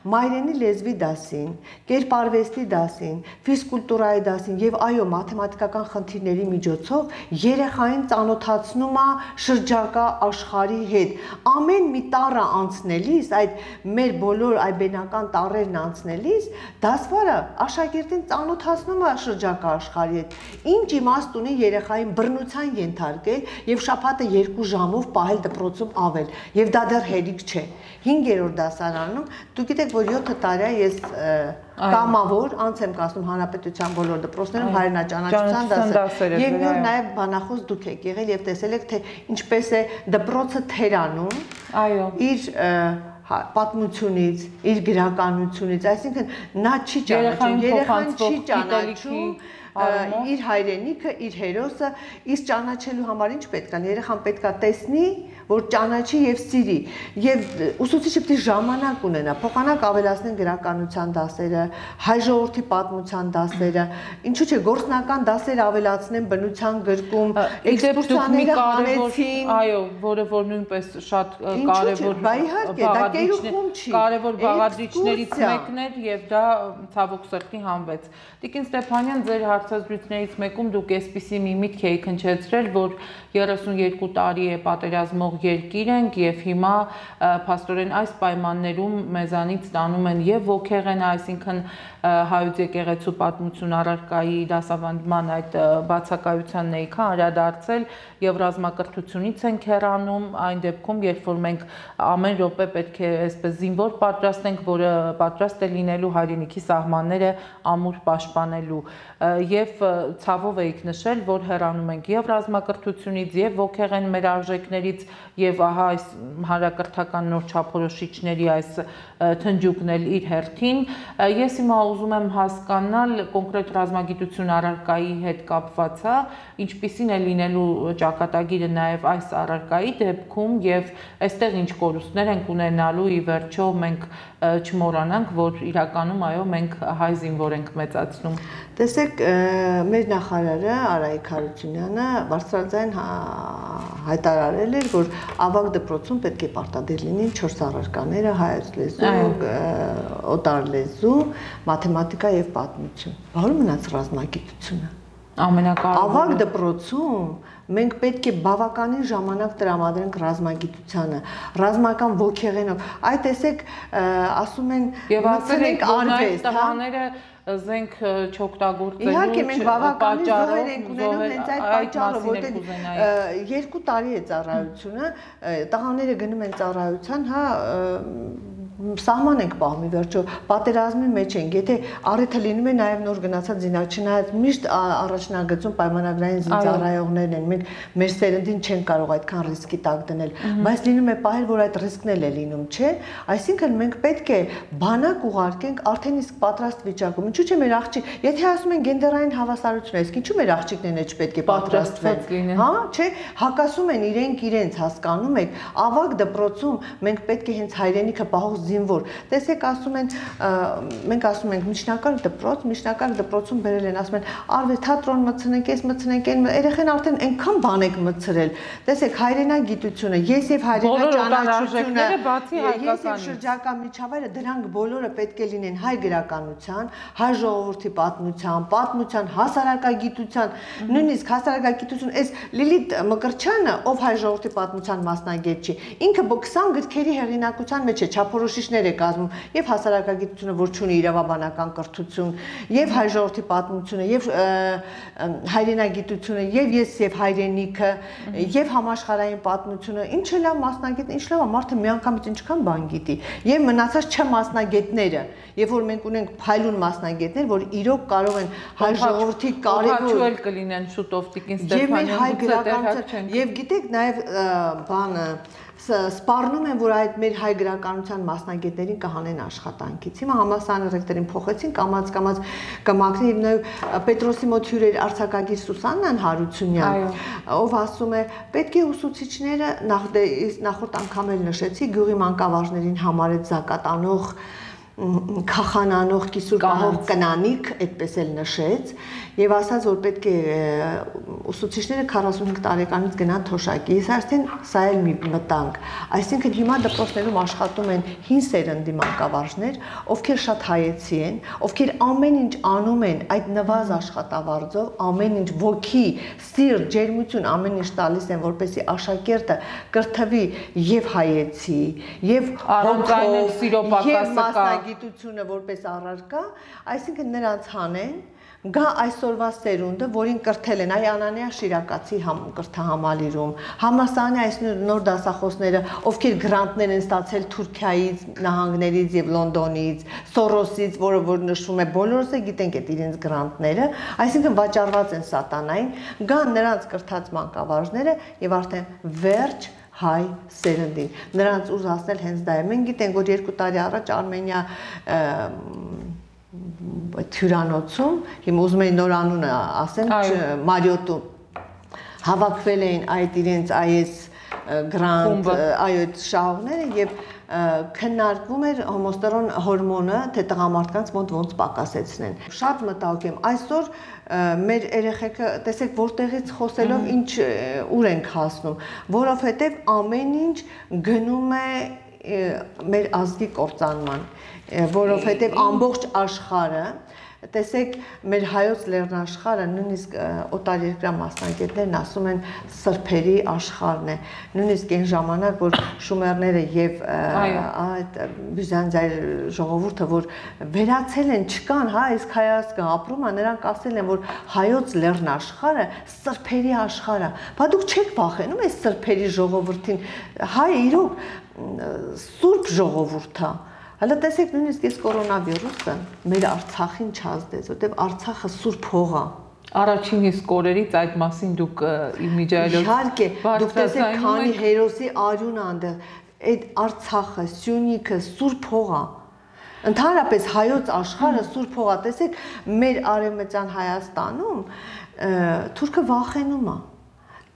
մայրենի լեզվի դասին, կերպարվեստի դասին, ֆիզկուլտուրայի դասին եւ այո մաթեմատիկական խնդիրների միջոցով երեխային ծանոթացնում է շրջակա աշխարհի հետ։ Ամեն մի տառը անցնելիս, այդ մեր բոլոր այբենական տառերն անցնելիս, դասվարը աշակերտին ծանոթացնում է շրջակա աշխարհի հետ։ Ինչ իմաստ ունի երեխային բռնության ենթարկել եւ շաբաթը երկու ժամով պահել դպրոցում ավել։ Եվ դա դեռ հերիք չէ։ հինգերորդ դասարանում, դուք գիտեք, որ յոթ տարի է ես կամավոր անց եմ կազմում հանրապետության բոլոր դպրոցներում հայրենաճանաչության դասեր։ Եվ նոր նաև բանախոս դուք եք եղել եւ տեսել եք, թե ինչպես է դպրոցը թերանում իր պատմությունից, իր գրականությունից, այսինքն նա չի ճանաչում, երեխան չի ճանաչում իր հայրենիքը, իր հերոսը, իսկ ճանաչելու համար ինչ պետք է, երեխան պետք է տեսնի, որ ճանաչի եւ սիրի, եւ ուսուցիչը պետք է ժամանակ ունենա, փոխանակ ավելացնեն գրականության դասերը, հայ ժողովրդի պատմության դասերը, ինչու՞ չէ գործնական դասեր ավելացնեն բնության գրկում, էքսկուրսիաները հանեցին, այո, որը որ նույնպես շատ կարևոր կարևոր բաղադրիչներից մեկն էր եւ դա ցավոք սրտի հանվեց։ Տիկին Ստեփանյան, ձեր հարցազրույցներից մեկում դուք այսպիսի մի միտք եք հնչեցրել, որ երեսունյոթ տարի է պատերազմող երկիր ենք եւ հիմա փաստորեն այս պայմաններում մեզանից ստանում են եւ ոգեղեն, այսինքն հայոց եկեղեցու պատմություն առարկայի դասավանդման այդ բացակայության ներքա անդրադարձել եւ ռազմակրթությունից են հեռանում այն դեպքում, երբ որ մենք ամեն րոպե պետք է այսպես զինվոր պատրաստենք, որը պատրաստ է լինելու հայրենիքի սահմանները ամուր պաշտպանելու եւ ցավով եք նշել, որ հեռանում ենք եւ ռազմակրթությունից եւ ոգեղեն մեր արժեքներից եւ ահա այս հանրակրթական նոր չափորոշիչների այս թնջուկն էլ իր հերթին։ Ես հիմա ուզում եմ հասկանալ կոնկրետ ռազմագիտություն առարկայի հետ կապված, ինչպիսին է լինելու ճակատագիրը նաեւ այս առարկայի դեպքում եւ այստեղ ինչ կորուստներ ենք ունենալու ի վերջո մենք չմոռանանք, որ իրականում այո մենք հայ զինվոր ենք մեծացնում։ Տեսեք, մեր նախարարը Արայիկ Հարությունյանը բարձրաձայն հայտարարել էր, որ ավագ դպրոցում պետք է պարտադիր լինեն չորս առարկաները՝ հայոց լեզու, օտար լեզու, մաթեմատիկա եւ պատմություն։ Որը մնաց ռազմագիտությունը։ Ամենակարևորը ավագ դպրոցում մենք պետք է բավականին ժամանակ տրամադրենք ռազմագիտությանը, ռազմական ոգեղենով։ Այ տեսեք, ասում են, մտցնենք արվեստ, տղաները զենք չօգտագործելու իհարկե մենք բավականին զոհեր ենք ունենում հենց այդ պատճառով, որտեղ երկու տարի է ծառայությունը, տղաները գնում են ծառայության, հա սահման ենք պահում ի վերջո, պատերազմի մեջ ենք, եթե առիթը լինում է նաև նոր գնացած զինակ, չնայած միշտ առաջնագծում պայմանագրային զինծառայողներն են, մենք մեր սերնդին չենք կարող այդքան ռիսկի տակ դնել, բայց լինում է պահել, որ այդ ռիսկն էլ է լինում, չէ՞, այսինքն մենք պետք է բանակ ուղարկենք արդեն իսկ պատրաստ վիճակում, ինչու՞ չէ մեր աղջիկ, եթե ասում են գենդերային հավասարություն, իսկ ինչու մեր աղջիկներն էլ չպետք է պատրաստվեն, հա, չէ՞, հակասում են իրենք իրենց, հասկանում եք, ավագ դպրոցում մենք պետք է հենց հայրենիքը պահող զինվոր։ Տեսեք, ասում են, մենք ասում ենք միջնակարգ դպրոց, միջնակարգ դպրոցում բերել են, ասում են, արվեստ թատրոն մտցնենք, այս մտցնենք, այն երեխեն արդեն այնքան բան եք մտցրել։ Տեսեք, հայրենագիտությունը, ես եւ հայրենա ճանաչությունը, ես եւ շրջակա միջավայրը, դրանք բոլորը պետք է լինեն հայ գրականության, հայ ժողովրդի պատմության, պատմության, հասարակագիտության, նույնիսկ հասարակագիտություն, այս Լիլիթ Մկրտչյանը, ով հայ ժողովրդի պատմության մասնագետ չի, ինքը քսան գրքերի հեղինակության մեջ է, չափորոշիչներ է կազմում, եւ հասարակագիտությունը, որ ունի իրավաբանական կրթություն, եւ հայ ժողովրդի պատմությունը, եւ հայրենագիտությունը, եւ ես եւ հայրենիքը, եւ համաշխարհային պատմությունը, ինչ է լավ մասնագետ, ինչ լավ, մարդը միանգամից ինչքան բան գիտի, եւ մնացած չմասնագետները, երբ որ մենք ունենք փայլուն մասնագետներ, որ իրոք կարող են հայ ժողովրդի կարևոր կլինեն շուտով Տիկին Ստեփանյան, եւ գիտեք նաեւ բանը սպառնում են, որ այդ մեր հայ գրականության մասնագետներին կհանեն աշխատանքից։ Հիմա համալսարանի ռեկտորին փոխեցին, կամած կամած կմաքրի, եւ նաեւ Պետրոսի մոտ հյուր էր արձակագիր Սուսաննան Հարությունյան, ով ասում է, պետք է ուսուցիչները նախորդ անգամ էլ նշեցի, գյուղի մանկավարժներին համար այդ զակատանող քախանանող կիսուր պահող կնանիկ, այդպես էլ նշեց, եւ ասաց, որ պետք է ուսուցիչները քառասունհինգ տարեկանից գնան թոշակի։ Ես արդեն սա էլ մի մտանք, այսինքն հիմա դպրոցներում աշխատում են հին սերնդի մանկավարժներ, ովքեր շատ հայեցի են, ովքեր ամեն ինչ անում են այդ նվազ աշխատավարձով, ամեն ինչ ոգի, սիրտ, ջերմություն ամեն ինչ տալիս են, որպեսզի աշակերտը կրթվի եւ հայեցի, եւ հոգով, եւ գիտությունը որպես առարկա, այսինքն նրանց հանեն, գա այսօրվա սերունդը, որին կրթել են այ Անանիա Շիրակացի կրթահամալիրում, համալսարանի այս նոր դասախոսները, ովքեր գրանտներ են ստացել Թուրքիայից, նահանգներից եւ Լոնդոնից, Սորոսից, որը որ նշվում է, բոլորս է գիտենք այդ իրենց գրանտները, այսինքն վաճառված են սատանային, գան նրանց կրթած մանկավարժները եւ արդեն վերջ հայ սերնդին, նրանց ուզ հասնել հենց դա է, մենք գիտենք, որ երկու տարի առաջ Արմենիա հյուրանոցում, հիմա ուզում էին նոր անունը ասեմ, Մարիոտում հավաքվել էին այդ իրենց այս գրանտ, այո, այդ շահողները եւ քննարկվում էր հոմոստերոն հորմոնը, թե տղամարդկանց մոտ ոնց պակասեցնեն։ Շատ մտահոգ եմ, այսօր մեր երեխեքը, տեսեք, որտեղից խոսելով ինչ ուր ենք հասնում, որովհետև ամեն ինչ գնում է մեր ազգի կործանման, որովհետև ամբողջ աշխարհը, տեսեք, մեր հայոց լեռնաշխարհը, նույնիսկ օտարերկրյա մասնագետներն ասում են սրբերի աշխարհն է, նույնիսկ այն ժամանակ, որ շումերները եւ այդ բյուզանդիայի ժողովուրդը, որ վերացել են, չկան, հա, իսկ հայազգը ապրում է, նրանք ասել են, որ հայոց լեռնաշխարհը սրբերի աշխարհ է, բա դուք չեք վախենում այս սրբերի ժողովրդին, հայ իրոք սուրբ ժողովուրդ է։ Հələ տեսեք, նույնիսկ այս կորոնավիրուսը մեր Արցախին չազդեց, որտեղ Արցախը սուրբ հող է։ Առաջին իսկ օրերից այդ մասին դուք իմիջիայլոց իհարկե, դուք տեսեք, քանի հերոսի արյուն անդեղ, այդ Արցախը, Սյունիքը սուրբ հող է։ Ընդհանրապես հայոց աշխարհը սուրբ հող է, տեսեք, մեր արևմտյան Հայաստանում թուրքը վախենում է։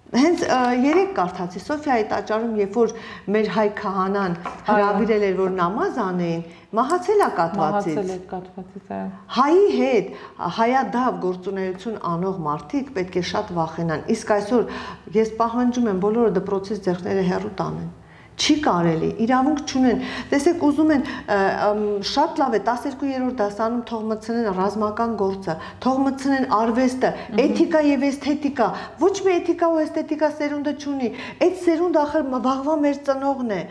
Հենց երեք կարդացի Սոֆիայի տաճարում, երբ որ մեր հայ քահանան հրավիրել էր, որ նամազ անեին, մահացել է կաթվածից։ Հայի հետ հայադավ գործունեություն անող մարդիկ պետք է շատ վախենան։ Իսկ այսօր ես պահանջում եմ բոլորը դպրոցից ձեռքները հեռու տանեն։ Չի կարելի, իրավունք չունեն, տեսեք ուզում են շատ լավ է, տասներկուերորդ դասանում թող մտցնեն ռազմական գործը, թող մտցնեն արվեստը, էթիկա եւ էսթետիկա, ոչ մի էթիկա ու էսթետիկա սերունդը չունի, այդ սերունդը ախր վաղվա մեր ծնողն է,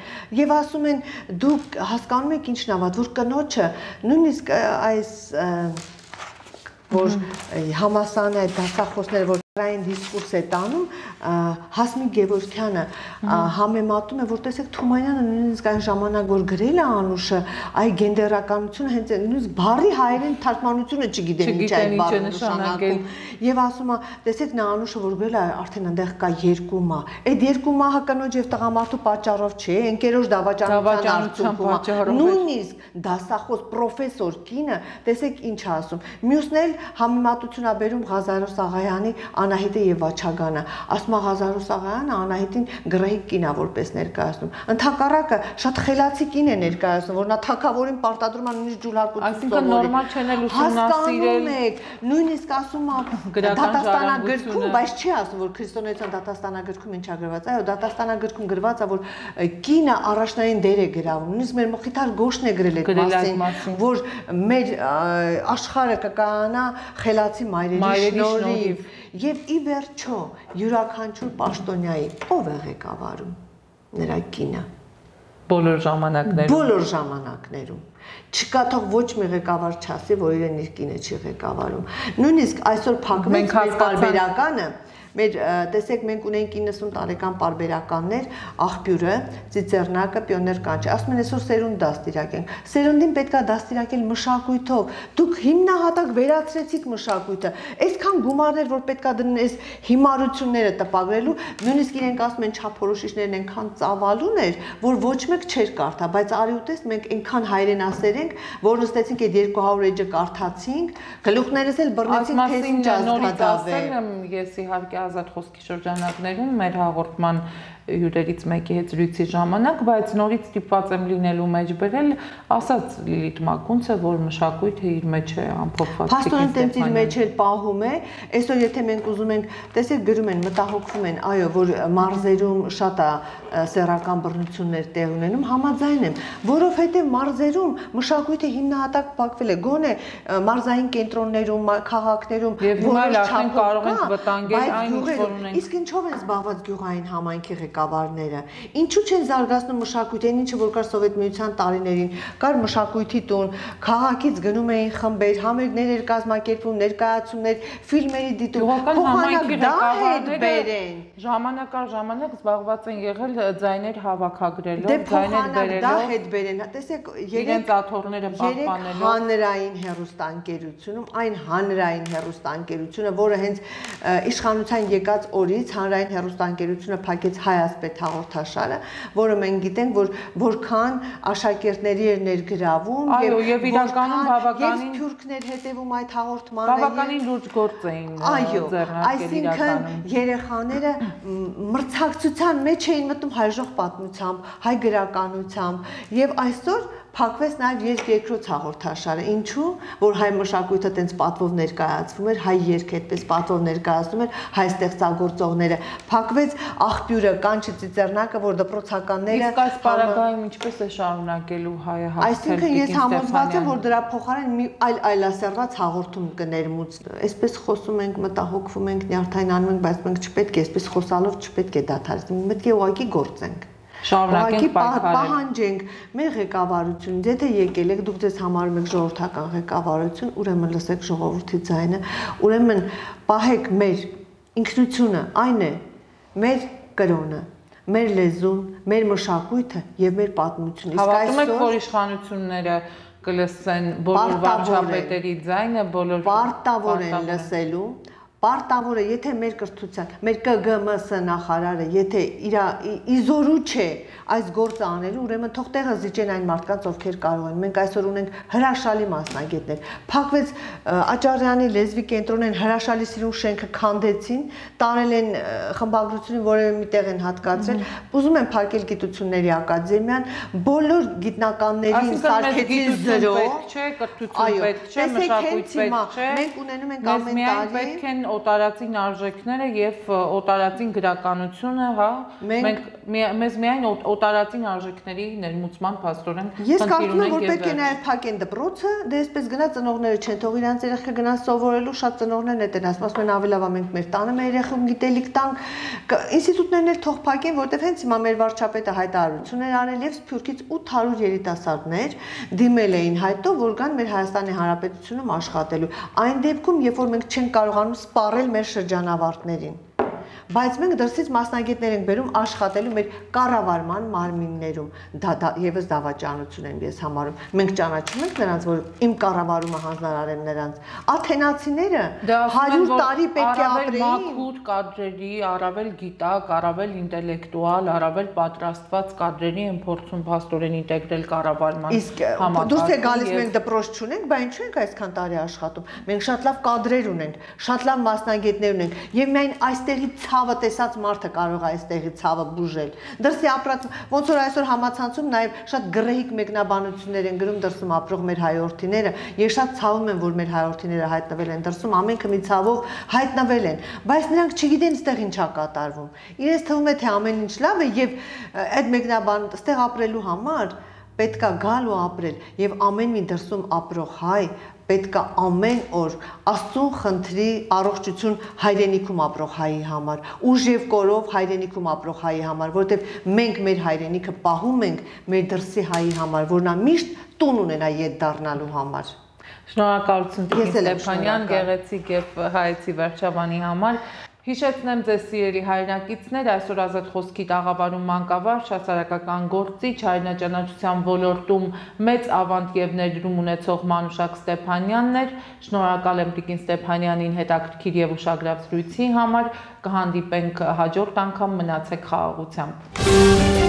եւ ասում են դուք հասկանում եք ինչն է, որ կնոջը նույնիսկ այս որ համասարանի այդ դասախոսները, որ այն դիսկուրս է տանում, Հասմիկ Գևորգյանը համեմատում է, որ տեսեք Թումանյանը նույնիսկ այն ժամանակ, որ գրել է Անուշը, այ գենդերականությունը հենց նույնիսկ բառի հայերեն թարգմանությունը չգիտեն ինչ այդ բառը նշանակում, եւ ասում է, տեսեք նա Անուշը, որ գրել է, արդեն այնտեղ կա երկու մահ, այդ երկու մահը կնոջ եւ տղամարդու պատճառով չէ, ընկերոջ դավաճանության արդյունքում, նույնիսկ դասախոս պրոֆեսոր կինը, տեսեք ինչ ասում, մյուսն էլ համեմատություն ա բերում Ղազարոս Աղայանի Անահիտը եւ Վաչագանը, ասում է Ղազարու Սաղարյանը Անահիտին գրեհիկ կին է որպես ներկայացնում։ Ընդհակառակը շատ խելացի կին է ներկայացնում, որ նա թագավորին պարտադրում է նույնիսկ ջուլհակություն այսինքն նորմալ չեն էլ ուսումնասիրել, նույնիսկ ասում է դատաստանագրքում, բայց չի ասում, որ քրիստոնեության դատաստանագրքում ինչա գրված, այո, դատաստանագրքում գրված է, որ կինը առաջնային դեր է գրավում, նույնիսկ մեր Մխիթար Գոշն է գրել այդ մասին, որ մեր աշխարհը կկանա խելացի մայրերի շնորհիվ, եւ ի վերջո յուրաքանչյուր պաշտոնյայի ով է ղեկավարում, նրա կինը, բոլոր ժամանակներում, բոլոր ժամանակներում չկա թող ոչ մի ղեկավար չասի, որ իրեն իր կինը չի ղեկավարում, նույնիսկ այսօր փակվեց մեր պարբերականը, մեր տեսեք մենք ունենք իննսուն տարեկան պարբերականներ, աղբյուրը, ծիծեռնակը, պիոներ կանչի, ասում են այսօր սերունդ դաստիարակենք, սերունդին պետքա դաստիարակել մշակույթով, դուք հիմնահատակ վերացրեցիք մշակույթը, այսքան գումարներ, որ պետքա դնեն այս հիմարությունները տպագրելու, նույնիսկ իրենք ասում են չափորոշիչներն այնքան ծավալուն էր, որ ոչ մեկ չէր կարդա, բայց արի ուտես մենք այնքան հայրենասեր ենք, որ նստեցինք այդ երկու հարյուր էջը կարդացինք, գլուխներս էլ բռնեցինք, թե ինչ ազգադավեր։ Ազատ խոսքի շրջանակներում մեր հաղորդման հյուրերից մեկի հետ զրույցի ժամանակ, բայց նորից ստիպված եմ լինելու մեջ բերել, ասաց Լիլիթ Մակունցը, որ մշակույթը իր մեջ է ամփոփված։ Փաստորեն տենց իր մեջ էլ պահում է, այսօր եթե մենք ուզում ենք, տեսեք գրում են, մտահոգվում են, այո, որ մարզերում շատ է սեռական բռնություններ տեղ ունենում, համաձայն եմ, որովհետև մարզերում մշակույթը հիմնահատակ փակվել է, գոնե մարզային կենտրոններում, քաղաքներում, որոշ չափով կարող ենք վտանգել այն, ինչ որ ունենք։ Իսկ ինչով են զբաղված գյուղային համայնքի ղեկավարները, ինչու չեն զարգացնում մշակույթին, ինչը որ կար Սովետ միության տարիներին, կար մշակույթի տուն, քաղաքից գնում էին խմբեր, համերգներ էր կազմակերպվում, ներկայացումներ, ֆիլմերի դիտում, փոխանակ դա հետ բերեն։ Ժամանակ առ ժամանակ զբաղված են եղել ձայներ հավաքագրելով, ձայներ բերելով, դա հետ բերեն, տեսեք, իրենց աթոռները պահպանելով, հանրային հեռուստաընկերությունում, այն հանրային հեռուստաընկերությունը, որը հենց իշխանության եկած օրից հանրային հեռուստաընկերությունը փակեց Հայասպետ հաղորդաշարը, որը մենք գիտենք, որ որքան աշակերտների էր ներգրավում եւ իրականում բավականին թուրքներ հետևում այդ հաղորդմանը, բավականին լուրջ գործ էին ձեռնարկել իրականում։ Այսինքն երեխաները մրցակցության մեջ էին մտնում հայժող պատմությամբ, հայ գրականությամբ եւ այսօր փակվեց նաև երկրորդ հաղորդաշարը, ինչու, որ հայ մշակույթը տենց պատվով ներկայացվում էր, հայ երգը այդպես պատվով ներկայացնում էր, հայ ստեղծագործողները, փակվեց աղբյուրը, կանչի ծիծեռնակը, որ դպրոցականները իսկ այս պարագայում ինչպես է շարունակելու հայը հաղթել։ Այսինքն ես համոզված եմ, որ դրա փոխարեն մի այլ այլասերված հաղորդում կներմուծվի։ Այսպես խոսում ենք, մտահոգվում ենք, նյարդայնանում ենք, բայց մենք չպետք է այսպես խոսալով չպետք է դադարեցնենք, պետք է ուղղակի գործենք։ Շարունակենք պայքարել։ Պահանջենք մեր ղեկավարությունից, եթե եկել եք, դուք ձեզ համարում եք ժողովրդական ղեկավարություն, ուրեմն լսեք ժողովրդի ձայնը, ուրեմն պահեք մեր ինքնությունը, այն է մեր կրոնը, մեր լեզուն, մեր մշակույթը եւ մեր պատմությունը։ Հավատում եք, որ իշխանությունները կլսեն բոլոր վարչապետերի ձայնը, բոլոր պարտավոր են լսելու։ Պարտավոր է, եթե մեր կրթության, մեր Կ Գ M S նախարարը, եթե իր իզորու չէ այս գործը անելու, ուրեմն թող տեղը զիջեն այն մարդկանց, ովքեր կարող են։ Մենք այսօր ունենք հրաշալի մասնագետներ։ Փակվեց Աճարյանի լեզվի կենտրոնեն հրաշալի սիրուն շենքը քանդեցին, տարել են խմբագրությունին որևէ մի տեղ են հատկացրել։ Ուզում են փակել գիտությունների ակադեմիան, բոլոր գիտնականներին սարքեցին զրո։ Պետք չէ, կրթություն պետք չէ, մշակույթ պետք չէ։ Մենք ունենում ենք ամեն տարի օտարածին արժեքները եւ օտարածին գրականությունը, հա, մենք մեզ միայն օտարածին արժեքների ներմուծման փաստորեն ես կարծում եմ, որ պետք է նաեւ փակեն դպրոցը, դե այսպես գնա ծնողները չեն թող իրանց երեխա գնան սովորելու, շատ ծնողներն են դեն ասում են ավելի լավ է մենք մեր տանը մեր երեխուն գիտելիք տանք, ինստիտուտներն էլ թող փակեն, որտեղ հենց հիմա մեր վարչապետը հայտարարություն էր արել եւ Սփյուռքից ութ հարյուր երիտասարդներ դիմել էին հայտով, որ գան մեր Հայաստանի Հանրապետությունում աշխատելու։ Այն դեպքում, երբ որ մենք չենք կարողանում սպառել մեր շրջանավարտներին։ բայց մենք դրսից մասնագետներ ենք բերում աշխատելու մեր կառավարման մարմիններում։ Դա եւս դավաճանություն են ես համարում։ Մենք ճանաչում ենք նրանց, որ իմ կառավարումը հանձնարարեմ նրանց։ Աթենացիները հարյուր տարի պետք է ապրեին։ Մաքուր կադրերի, առավել գիտակ, առավել ինտելեկտուալ, առավել պատրաստված կադրերի են փորձում փաստորեն ինտեգրել կառավարման համակարգը։ Դուրս է գալիս մենք դպրոց չունենք, բայց ինչու ենք այսքան տարի աշխատում։ Մենք շատ լավ կադրեր ունենք, շատ լավ մասնագետներ ունենք, եւ միայն այստեղի ցավը տեսած մարդը կարող է այստեղի ցավը բուժել։ Դրսի ապրած ոնց որ այսօր համացանցում նաեւ շատ գրեհիկ մեկնաբանություններ են գրում դրսում ապրող մեր հայրենիները։ Ես շատ ցավում եմ, որ մեր հայրենիները հայտնվել են դրսում, ամենքը մի ցավով հայտնվել են, բայց նրանք չգիտեն այստեղ ինչա կատարվում։ Իրենց թվում է թե ամեն ինչ լավ է եւ այդ մեկնաբան այստեղ ապրելու համար պետքա գալ ու ապրել եւ ամեն մի դրսում ապրող հայ պետքա ամեն օր Աստծուն խնդրի առողջություն հայրենիքում ապրող հայի համար, ուժ եւ կորով հայրենիքում ապրող հայի համար, որովհետեւ մենք մեր հայրենիքը պահում ենք մեր դրսի հայի համար, որ նա միշտ տուն ունենա ետ դառնալու համար։ Շնորհակալություն Տիկին Ստեփանյան, գեղեցիկ եւ հայեցի վերջաբանի համար։ Հիշեցնեմ ձեզ սիրելի հայրենակիցներ, այսօր Ազատ խոսքի տաղավարում մանկավարժ, հասարակական գործիչ, հայրենաճանաչության ոլորտում մեծ ավանդ եւ ներդրում ունեցող Մանուշակ Ստեփանյանն էր։ Շնորհակալ եմ Տիկին Ստեփանյանին հետաքրքիր եւ ուշագրավ զրույցի համար։ Կհանդիպենք հաջորդ անգամ, մնացեք խաղաղությամբ։